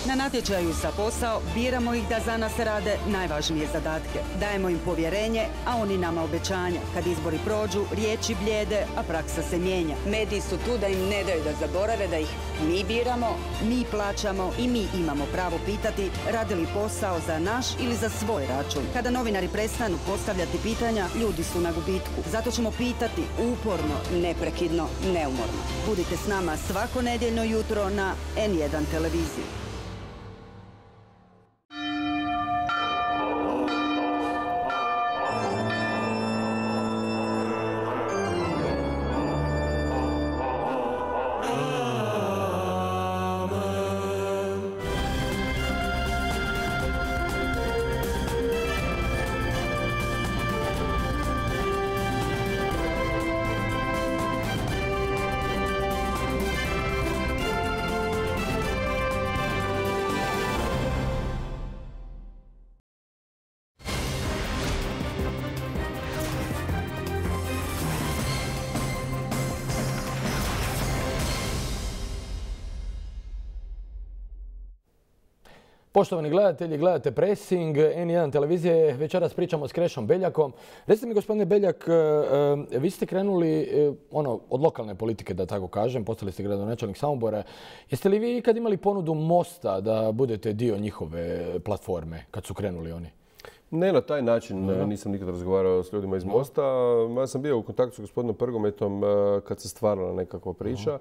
Na natječaju za posao biramo ih da za nas rade najvažnije zadatke. Dajemo im povjerenje, a oni nama obećanja. Kad izbori prođu, riječi blijede, a praksa se mijenja. Mediji su tu da im ne daju da zaborave da ih mi biramo, mi plaćamo i mi imamo pravo pitati radi li posao za naš ili za svoj račun. Kada novinari prestanu postavljati pitanja, ljudi su na gubitku. Zato ćemo pitati uporno, neprekidno, neumorno. Budite s nama svako nedjeljno jutro na N1 televiziji. Poštovani gledatelji, gledate Pressing, N1 televizije. Večeras pričamo s Krešom Beljakom. Recite mi, gospodine Beljak, vi ste krenuli od lokalne politike, da tako kažem, postali ste gradonačelnik Samobora. Jeste li vi ikad imali ponudu Mosta da budete dio njihove platforme kad su krenuli oni? Ne na taj način, nisam nikad razgovarao s ljudima iz Mosta. Ja sam bio u kontaktu s gospodinom Prgometom kad se stvarala nekakva priča.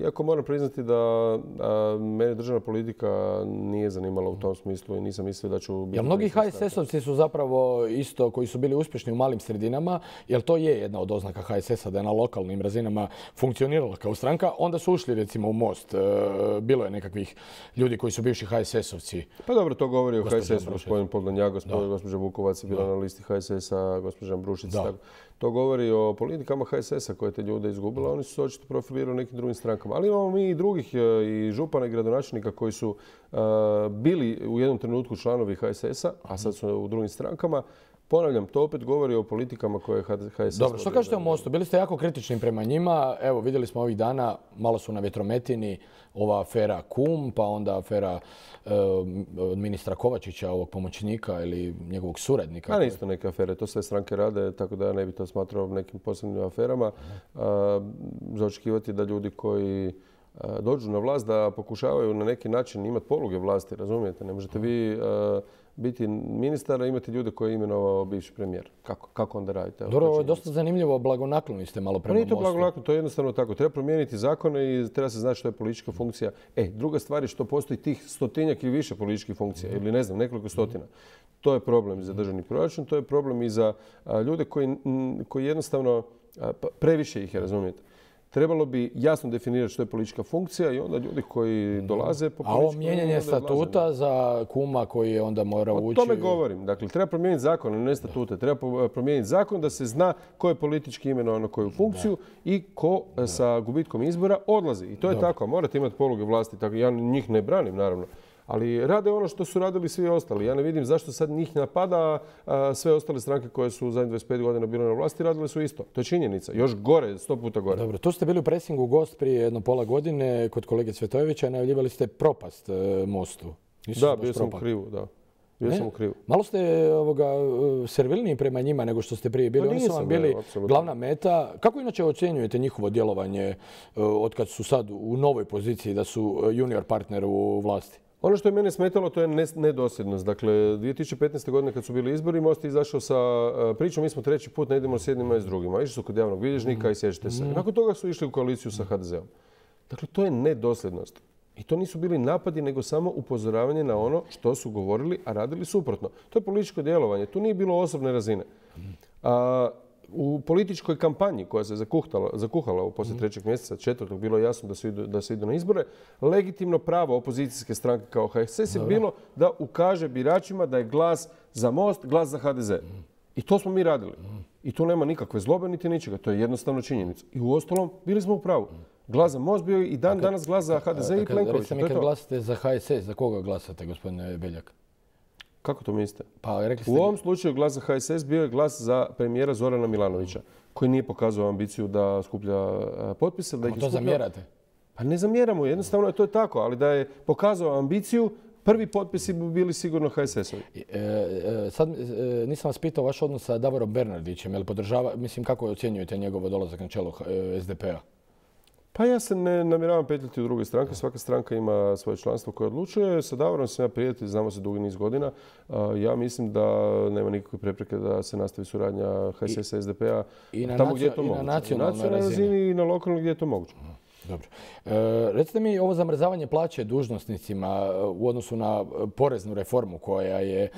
Iako moram priznati da mene državna politika nije zanimala u tom smislu i nisam mislio da ću biti... Jel mnogi HSS-ovci su zapravo isto koji su bili uspješni u malim sredinama, jer to je jedna od oznaka HSS-a da je na lokalnim razinama funkcionirala kao stranka, onda su ušli recimo u Most. Bilo je nekakvih ljudi koji su bivši HSS-ovci. Pa dobro, to govori o HSS-u, gospodin Podlanjak, gospođa Vukovac je bila na listi HSS-a, gospođa Ambrušić. To govori o politikama HSS-a koje te ljude izgubila. Oni su se očito profilirali nekim drugim strankama. Ali imamo mi i drugih, i župana i gradonačelnika koji su bili u jednom trenutku članovi HSS-a, a sad su u drugim strankama. Ponavljam, to opet govori o politikama koje HSS... Dobro, što kažete o Mostu? Bili ste jako kritični prema njima. Evo, vidjeli smo ovih dana, malo su na vjetrometini, ova afera Kum, pa onda afera ministra Kovačića, ovog pomoćnika ili njegovog suradnika. A nisu to neke afere, to sve stranke rade, tako da ja ne bi to smatrao nekim posebnim aferama. Za očekivati da ljudi koji dođu na vlast da pokušavaju na neki način imati poluge vlasti, razumijete? Ne možete vi biti ministar, a imati ljude koje je imenovao bivši premijer. Kako onda radite? Dobro, ovo je dosta zanimljivo, blagonakloni ste malo prema Mostu. Nije to blagonaklon, to je jednostavno tako. Treba promijeniti zakone i treba se znati što je politička funkcija. Druga stvar je što postoji tih 100-tinjak ili više političkih funkcija, ili ne znam, nekoliko stotina. To je problem za državni proračun, to je problem i za ljude koji jednostavno previše ih je, razumijete. Trebalo bi jasno definirati što je politička funkcija i onda ljudi koji dolaze po A ovo mijenjanje statuta za kuma koji je onda morao ući... O tome govorim. Dakle, treba promijeniti zakon, a ne statute. Treba promijeniti zakon da se zna ko je politički imenovan na koju funkciju i ko sa gubitkom izbora odlazi. I to je tako. Morate imati poluge vlasti. Tako, ja njih ne branim, naravno. Ali rade ono što su radili svi ostali. Ja ne vidim zašto sad njih napada, sve ostale stranke koje su u zadnjih 25 godina bile na vlasti radile su isto. To je činjenica. Još gore, 100 puta gore. Dobro, tu ste bili u presingu gost prije jedno pola godine kod kolege Cvetojevića i najavljivali ste propast Mostu. Da, bio sam u krivu, da. Bio sam u krivu. Malo ste servilniji prema njima nego što ste prije bili. Oni su vam bili glavna meta. Kako inače ocjenjujete njihovo djelovanje od kad su sad u novoj poziciji da su junior partner u vlasti? Ono što je mene smetalo to je nedosljednost. Dakle, 2015. godine kad su bili izbori, Most je izašao sa pričom mi smo treći put, ne idemo s jednima i s drugima. Išli su kod javnog bilježnika i sjećate se. Nakon toga su išli u koaliciju sa HDZ-om. Dakle, to je nedosljednost. I to nisu bili napadi, nego samo upozoravanje na ono što su govorili, a radili suprotno. To je političko djelovanje. Tu nije bilo osobne razine. U političkoj kampanji koja se zakuhala u poslije 3. mjeseca, 4. bilo je jasno da se idu na izbore, legitimno pravo opozicijske stranke kao HSS je bilo da ukaže biračima da je glas za Most, glas za HDZ. I to smo mi radili. I tu nema nikakve zlobe niti ničega. To je jednostavno činjenica. I uostalom, bili smo u pravu. Glas za Most bio i danas glas za HDZ i Plenković. Recite mi kad glasate za HSS, za koga glasate, gospodine Beljak? Kako to mislite? Pa, u ovom slučaju glas za HSS bio je glas za premijera Zorana Milanovića, koji nije pokazao ambiciju da skuplja potpise. Da to zamjerate? Pa ne zamjeramo, jednostavno to je tako, ali da je pokazao ambiciju, prvi potpisi bi bili sigurno HSS-ovi. Sad nisam vas pitao vaš odnos sa Davorom Bernardićem, jel podržava, mislim kako ocjenjujete njegov dolazak na čelo SDP-a? Pa ja se ne namjeravam petljati u druge stranke. Svaka stranka ima svoje članstvo koje odlučuje. Sa Davorom sam ja prijatelj, znamo se dugi niz godina. Ja mislim da nema nikakve prepreke da se nastavi suradnja HSS-a i SDP-a tamo gdje je to moguće. Na nacionalnoj razini i na lokalnoj gdje je to moguće. Dobro. Recite mi ovo zamrzavanje plaće dužnosnicima u odnosu na poreznu reformu koja je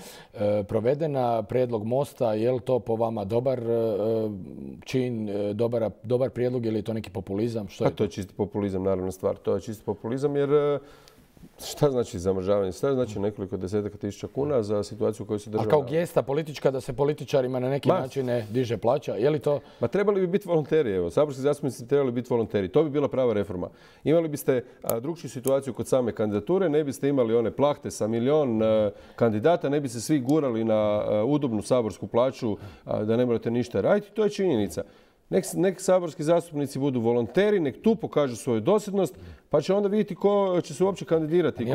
provedena, prijedlog Mosta, je li to po vama dobar čin, dobar prijedlog ili je to neki populizam? Pa to je čisti populizam, naravno stvar. To je čisti populizam jer šta znači zamrzavanje? Šta znači nekoliko desetaka tisuća kuna za situaciju u kojoj se država... A kao gesta politička da se političarima na neki način ne diže plaća, je li to... Ma trebali bi biti volonteri, evo. Saborski zastupnici trebali biti volonteri. To bi bila prava reforma. Imali biste drugčiju situaciju kod same kandidature, ne biste imali one plahte sa milion kandidata, ne bi se svi gurali na udobnu saborsku plaću da ne morate ništa raditi. To je činjenica. Nek saborski zastupnici budu volonteri, nek tu pokažu svoju dosljednost, pa će onda vidjeti ko će se uopće kandidirati.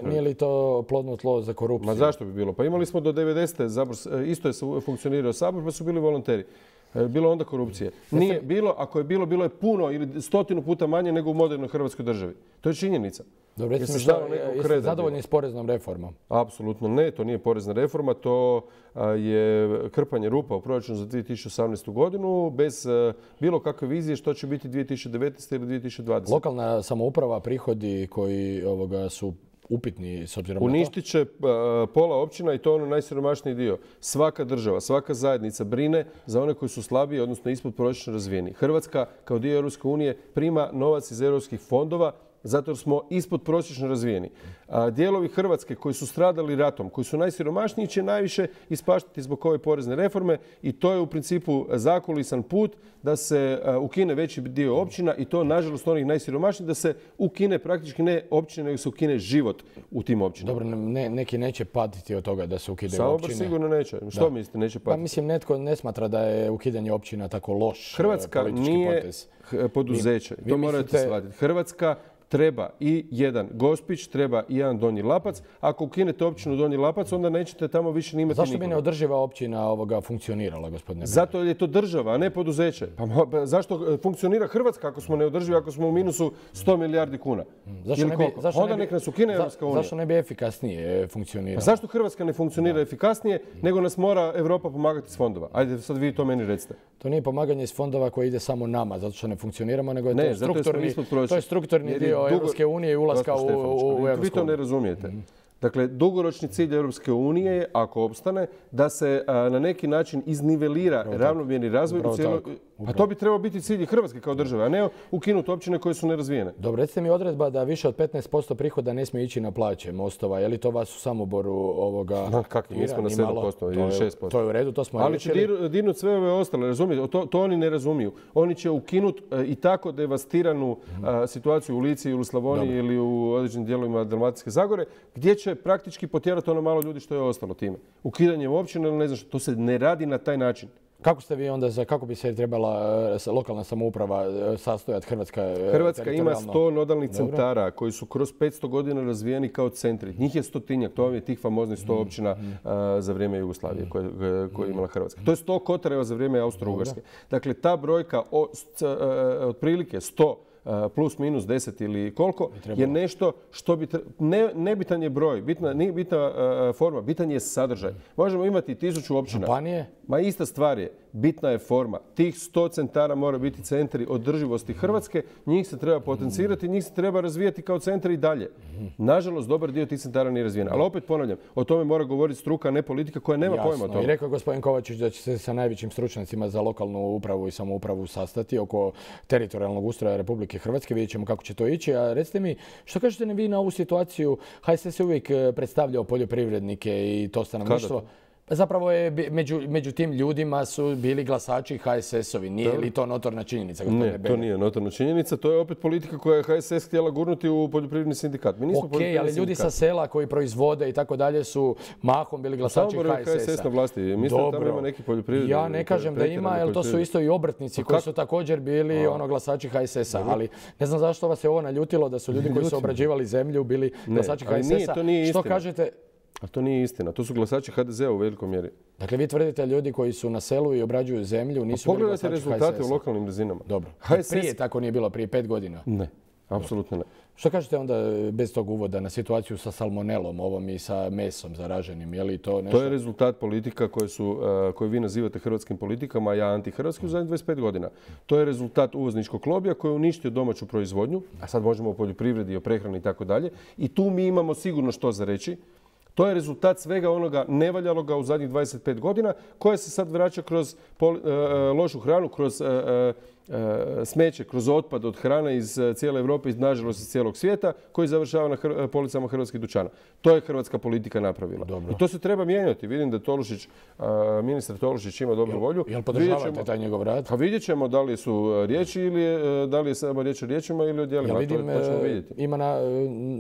Nije li to plodno tlo za korupciju? Ma zašto bi bilo? Pa imali smo do 90. isto je funkcionirao sabor, pa su bili volonteri. Bilo onda korupcije. Nije bilo, ako je bilo, bilo je puno ili 100 puta manje nego u modernoj Hrvatskoj državi. To je činjenica. Dobro, jeste zadovoljni s poreznom reformom? Apsolutno ne, to nije porezna reforma, to je krpanje rupa u proračunu za 2018. godinu bez bilo kakve vizije što će biti 2019. ili 2020. Lokalna samouprava, prihodi koji su upitni s obzirom na to? Uništit će pola općina i to ono najsiromašniji dio. Svaka država, svaka zajednica brine za one koji su slabiji, odnosno ispod prosječno razvijeni. Hrvatska kao dio Europske unije prima novac iz europskih fondova zato jer smo ispod prosječno razvijeni. Dijelovi Hrvatske koji su stradali ratom, koji su najsiromašniji će najviše ispaštati zbog ove porezne reforme i to je u principu zakulisan put da se ukine veći dio općina i to nažalost onih najsiromašnijih da se ukine praktički ne općine nego se ukine život u tim općinama. Dobro, neki neće patiti od toga da se ukidaju Sabor općine. sigurno neće. Što mislite neće patiti? Pa mislim netko ne smatra da je ukidanje općina tako loš Hrvatska politički nije potez. Poduzeće. To morate shvatiti. Hrvatska treba i jedan Gospić, treba i jedan Donji Lapac. Ako ukinete općinu Donji Lapac, onda nećete tamo više ni imati Zašto nikoga. bi neodrživa općina funkcionirala, gospodine? Zato jer je to država, a ne poduzeće. Pa zašto funkcionira Hrvatska ako smo neodrživi, ako smo u minusu 100 milijardi kuna? Onda nek nas ukine Europska unija. Zašto ne bi efikasnije funkcionirala? Pa zašto Hrvatska ne funkcionira efikasnije, nego nas mora Europa pomagati s fondova? Ajde, sad vi to meni recite. To nije pomaganje iz fondova koje ide samo nama, zato što ne funkcioniramo, nego je to strukturni dio Europske unije i ulaska u Europsku uniju. Vi to ne razumijete. Dakle, dugoročni cilj Europske unije je, ako opstane, da se na neki način iznivelira ravnomjerni razvoj Pa to bi trebao biti cilj i Hrvatske kao države, a ne ukinuti općine koje su nerazvijene. Dobro, recite mi odredba da više od 15% prihoda ne smije ići na plaće mostova. Je li to vas u Samoboru ovoga... Kakvi, mi smo na 7% ili 6%. To je u redu, to smo riješili. Ali će dirnuti sve ove ostale, razumijete? To oni ne razumiju. Oni će ukinuti i tako devastiranu situaciju u Lici ili u Slavoniji ili u određenim dijelovima Dalmatinske Zagore, gdje će praktički potjerati ono malo ljudi što je ostalo time. Ukidanjem općine ili ne znam što. To se ne radi na taj način. Kako ste vi onda, kako bi se trebala lokalna samouprava sastojati Hrvatska? Hrvatska ima 100 nodalnih centara koji su kroz 500 godina razvijeni kao centri. Njih je 100-tinjak, to je tih famoznih 100 općina za vrijeme Jugoslavije koje je imala Hrvatska. To je 100 kotareva za vrijeme Austro-Ugarske. Dakle, ta brojka otprilike 100 plus minus 10 ili koliko je nešto što bi... Nebitan je broj, nije bitna forma, bitan je sadržaj. Možemo imati 1000 općina. Županije? Ma ista stvar je, bitna je forma. Tih 100 centara mora biti centri održivosti Hrvatske, njih se treba potencirati, njih se treba razvijati kao centri i dalje. Nažalost, dobar dio tih centara nije razvijen. Ali opet ponavljam, o tome mora govoriti struka, a ne politika koja nema pojma o tome. I rekao je gospodin Kovačić da će se sa najvećim stručnjacima za lokalnu upravu i samoupravu sastati oko teritorijalnog ustroja Republike Hrvatske. Vidjet ćemo kako će to ići. A recite mi, što kažete vi na ovu situaciju? HSS je uvijek predstavljao poljoprivrednike i to stanovništvo. Zapravo je među tim ljudima su bili glasači HSS-ovi. Nije li to notorna činjenica? Ne, to nije notorna činjenica. To je opet politika koja je HSS htjela gurnuti u poljoprivredni sindikat. Mi nismo ali ljudi sa sela koji proizvode i tako dalje su mahom bili glasači HSS-a. HSS na vlasti. Mislim da tamo ima neki poljoprivredni. Ja ne kažem da ima, jer to su isto i obrtnici koji su također bili glasači HSS-a. Ali ne znam zašto vas je ovo naljutilo da su ljudi koji su obrađivali zemlju bili glasači HSS-a. Što kažete? A to nije istina. To su glasači HDZ-a u velikoj mjeri. Dakle, vi tvrdite ljudi koji su na selu i obrađuju zemlju nisu bili glasači HSS-a. Pogledajte rezultate u lokalnim razinama. Dobro. Prije tako nije bilo, prije 5 godina? Ne, apsolutno ne. Što kažete onda bez tog uvoda na situaciju sa salmonelom ovom i sa mesom zaraženim? Je li to nešto? To je rezultat politika koje vi nazivate hrvatskim politikama, a ja antihrvatski u zadnjih 25 godina. To je rezultat uvozničkog lobija koji je uništio domaću proizvodnju, a sad možemo o poljoprivredi, o prehrani i tako dalje. I tu mi imamo sigurno što za reći. To je rezultat svega onoga nevaljaloga u zadnjih 25 godina koje se sad vraća kroz lošu hranu, kroz smeće, kroz otpad od hrane iz cijele Europe i nažalost iz cijelog svijeta koji završava na policama hrvatskih dućana. To je hrvatska politika napravila. Dobro. I to se treba mijenjati. Vidim da ministar Tolušić ima dobru volju. Jel podržavate taj njegov rad? Pa vidjet ćemo da li su riječi ili da li je samo riječ o riječima ili o djelima. Vidim, ima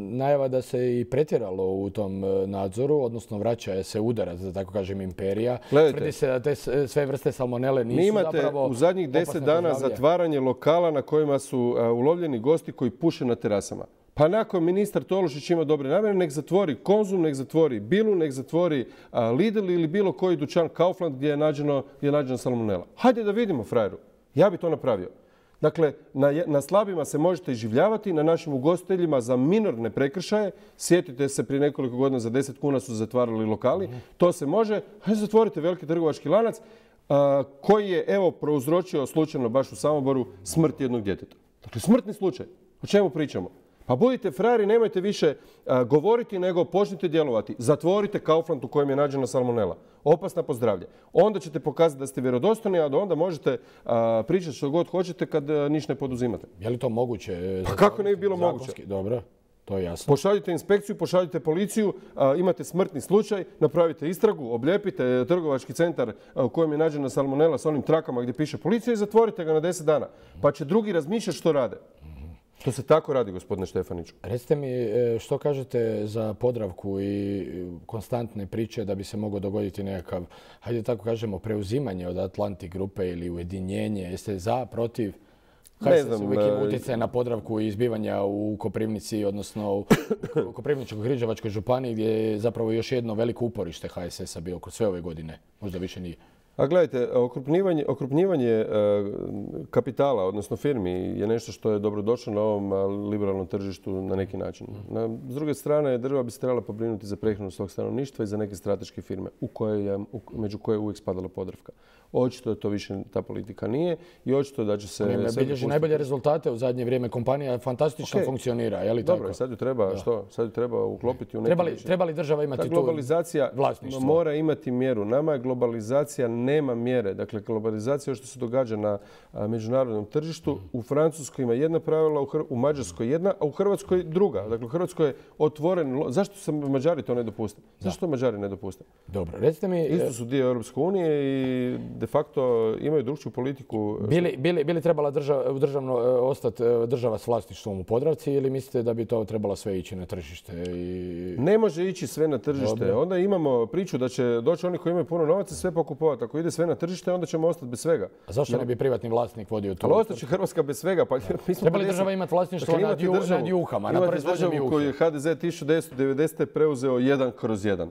najava da se i pretjeralo u tom nadzoru, odnosno vraća se udarac, da tako kažem, imperija. Tvrdi se da te sve vrste salmonele nisu zapravo u zadnjih 10 dana zatvaranje lokala na kojima su ulovljeni gosti koji puše na terasama. Pa nakon ministar Tolušić ima dobre namjere, nek zatvori Konzum, nek zatvori Bilu, nek zatvori Lidl ili bilo koji dućan Kaufland gdje je nađena salmonela. Hajde da vidimo, frajeru. Ja bi to napravio. Dakle, na slabima se možete iživljavati, na našim ugostiteljima za minorne prekršaje. Sjetite se, prije nekoliko godina za 10 kuna su zatvarali lokali. To se može. Hajde zatvorite veliki trgovački lanac koji je, evo, prouzročio slučajno baš u Samoboru smrt jednog djeteta. Dakle, smrtni slučaj. O čemu pričamo? Pa budite frajeri, nemojte više govoriti, nego počnite djelovati. Zatvorite Kaufland u kojem je nađena salmonela. Opasna po zdravlje. Onda ćete pokazati da ste vjerodostojni, a onda možete pričati što god hoćete kad ništa ne poduzimate. Je li to moguće? Pa kako ne bi bilo moguće? Dobro. To je jasno. Pošaljite inspekciju, pošaljite policiju, imate smrtni slučaj, napravite istragu, oblijepite trgovački centar u kojem je nađena salmonela s onim trakama gdje piše policija i zatvorite ga na 10 dana. Pa će drugi razmišljati što rade. To se tako radi, gospodine Štefaniću. Recite mi što kažete za Podravku i konstantne priče da bi se moglo dogoditi nekakav, hajde tako kažemo, preuzimanje od Atlantic grupe ili ujedinjenje. Jeste za, protiv? Ne znam. Uvijek ima utjecaj na Podravku i izbivanja u Koprivnici, odnosno u Koprivničko-križevačkoj županiji gdje je zapravo još jedno veliko uporište HSS-a bio kroz sve ove godine. Možda više nije. A gledajte, okrupnjivanje kapitala, odnosno firmi, je nešto što je dobrodošlo na ovom liberalnom tržištu na neki način. S druge strane, država bi se trebala pobrinuti za prehranu svog stanovništva i za neke strateške firme, među koje je uvijek spadala Podravka. Očito da to više ta politika nije i očito da će se... bilježi najbolje rezultate u zadnje vrijeme. Kompanija fantastično funkcionira, je li tako? Dobro, sad ju treba, što? Sad ju treba uklopiti u neki... Treba li država imati tu globalizacija vlasništvo? Mora imati mjeru. Nama je globalizacija nema mjere. Dakle, globalizacija je što se događa na međunarodnom tržištu. U Francuskoj ima jedna pravila, u Mađarskoj jedna, a u Hrvatskoj druga. Dakle, u Hrvatskoj je otvoren... Zašto se Mađari to ne dopuste? Zašto Mađari ne dopuste? Dobro, recite mi... Isto su dio Europske unije i de facto imaju drugčiju politiku. Bi li trebala ostati država s vlasništvom u Podravci ili mislite da bi to trebalo sve ići na tržište? Ne može ići sve na tržište. Onda imamo priču da će doći oni koji imaju puno novaca sve pokupovati. Ako ide sve na tržište, onda ćemo ostati bez svega. A zašto ne bi privatni vlasnik vodio tu? Ali ostaće Hrvatska bez svega. Treba li država imati vlasništvo nad juhama? Imate državu koju je HDZ 1990. preuzeo 1/1.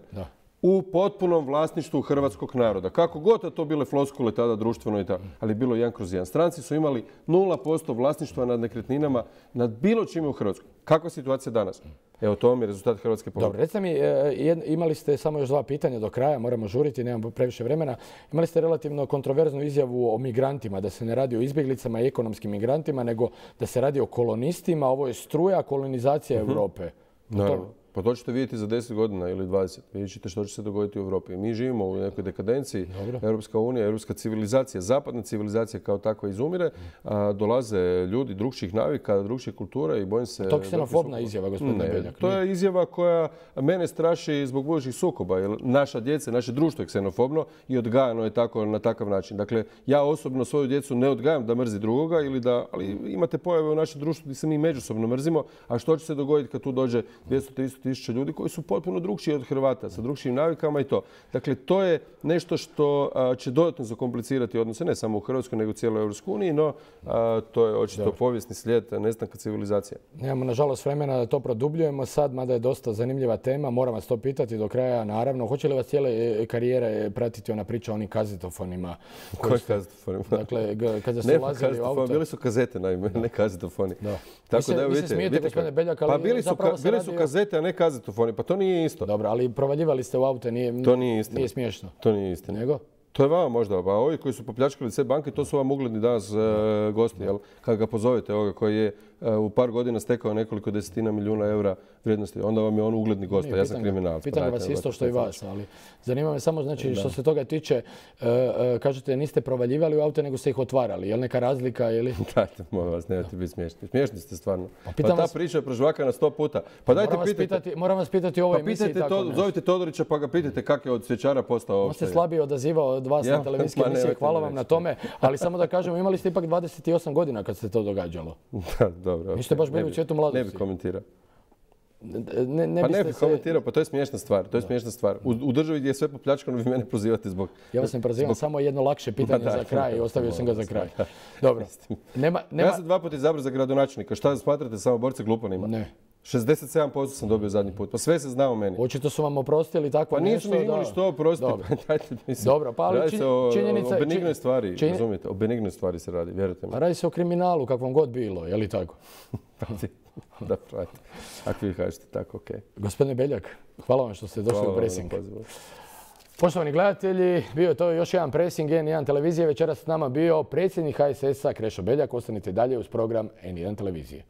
U potpunom vlasništvu hrvatskog naroda. Kako god da to bile floskule tada društveno i tako, ali bilo 1/1. Stranci su imali 0% vlasništva nad nekretninama, nad bilo čime u Hrvatskoj. Kakva je situacija danas? Evo, to vam je rezultat hrvatske politike. Dobro, recite mi, imali ste samo još 2 pitanja do kraja, moramo žuriti, nemamo previše vremena. Imali ste relativno kontroverznu izjavu o migrantima, da se ne radi o izbjeglicama i ekonomskim migrantima, nego da se radi o kolonistima. Ovo je struja kolonizacija Europe. Naravno. Pa to ćete vidjeti za 10 godina ili 20. Vidjet ćete što će se dogoditi u Europi. Mi živimo u nekoj dekadenciji. Europska unija, europska civilizacija, zapadna civilizacija kao takva izumire. Dolaze ljudi drugčijih navika, drugčijih kultura i bojim se... To je ksenofobna izjava, gospodine Beljak. To je izjava koja mene straši zbog budućih sukoba. Jer naša djeca, naše društvo je ksenofobno i odgajano je tako na takav način. Dakle, ja osobno svoju djecu ne odgajam da mrzi drugoga, ali imate pojave u našem društvu gdje se mi međusobno mrzimo. A što će se dogoditi kad tu dođe 200-300 tisuća ljudi koji su potpuno drugčiji od Hrvata, sa drugčijim navikama i to. Dakle, to je nešto što će dodatno zakomplicirati odnose ne samo u Hrvatskoj, nego u cijeloj Europskoj uniji, no to je očito povijesni slijed nestanka civilizacije. Nemamo, nažalost, vremena da to produbljujemo sad, mada je dosta zanimljiva tema. Moram vas to pitati do kraja, naravno. Hoće li vas cijele karijere pratiti ona priča o onim kazetofonima? Koji kazetofonima? Dakle, kada ste ulazili u auto... Bili su kazete, naime, ne kazetofoni. Tako da, vi se smijete, gospodine Beljak, ali bili su kazete, a ne kazetofoni. Pa to nije isto. Dobro, ali provaljivali ste u auto, to nije istina. Nije smiješno. To nije istina. Nego? To je vama možda, pa ovi koji su popljačkali sve banke, to su vam ugledni danas gosti, jel? Kad ga pozovete, ovoga koji je u par godina stekao nekoliko desetina milijuna eura vrijednosti, onda vam je on ugledni gost, ja sam kriminalac. Pitam vas isto što i vas, ali zanima me samo, znači, što se toga tiče, kažete niste provaljivali u auto, nego ste ih otvarali, je li neka razlika ili... Dajte, molim vas, nemojte biti smiješni. Smiješni ste stvarno. Pa ta priča je prožvakana 100 puta. Pa dajte pitajte. Moram vas pitati u ovoj emisiji tako nešto. Zovite Todorića pa ga pitajte kako je od cvjećara postao... On se slabije odazivao od vas na televizijske emisije, hvala vam na tome, ali samo da kažemo, imali ste ipak 28 godina kad se to događalo. Dobro. Niste baš bili u cvijetu mladosti. Ne bih komentirao. Ne bih komentirao, pa to je smiješna stvar. To je smiješna stvar. U državi gdje je sve popljačkano, vi mene prozivate zbog... Ja vas ne prozivam, samo jedno lakše pitanje za kraj i ostavio sam ga za kraj. Dobro. Ja sam 2 puta izabrao za gradonačelnika. Šta smatrate samoborce glupanima? Ne. 67% sam dobio zadnji put. Pa sve se zna o meni. Očito su vam oprostili tako nešto. Pa nisu mi imali što oprostiti. Dobro, pa ali činjenica... O benignoj stvari, razumijete? O benignoj stvari se radi, vjerujte mi. Pa radi se o kriminalu, kakvom god bilo, je li tako? Da, pravite. Ako vi kažete tako, okej. Gospodine Beljak, hvala vam što ste došli u Pressing. Poštovani gledatelji, bio je to još jedan Pressing N1 televizije. Večeras s nama bio predsjednik HSS-a Krešo Beljak. Ostanite dalje uz program N1 televizije.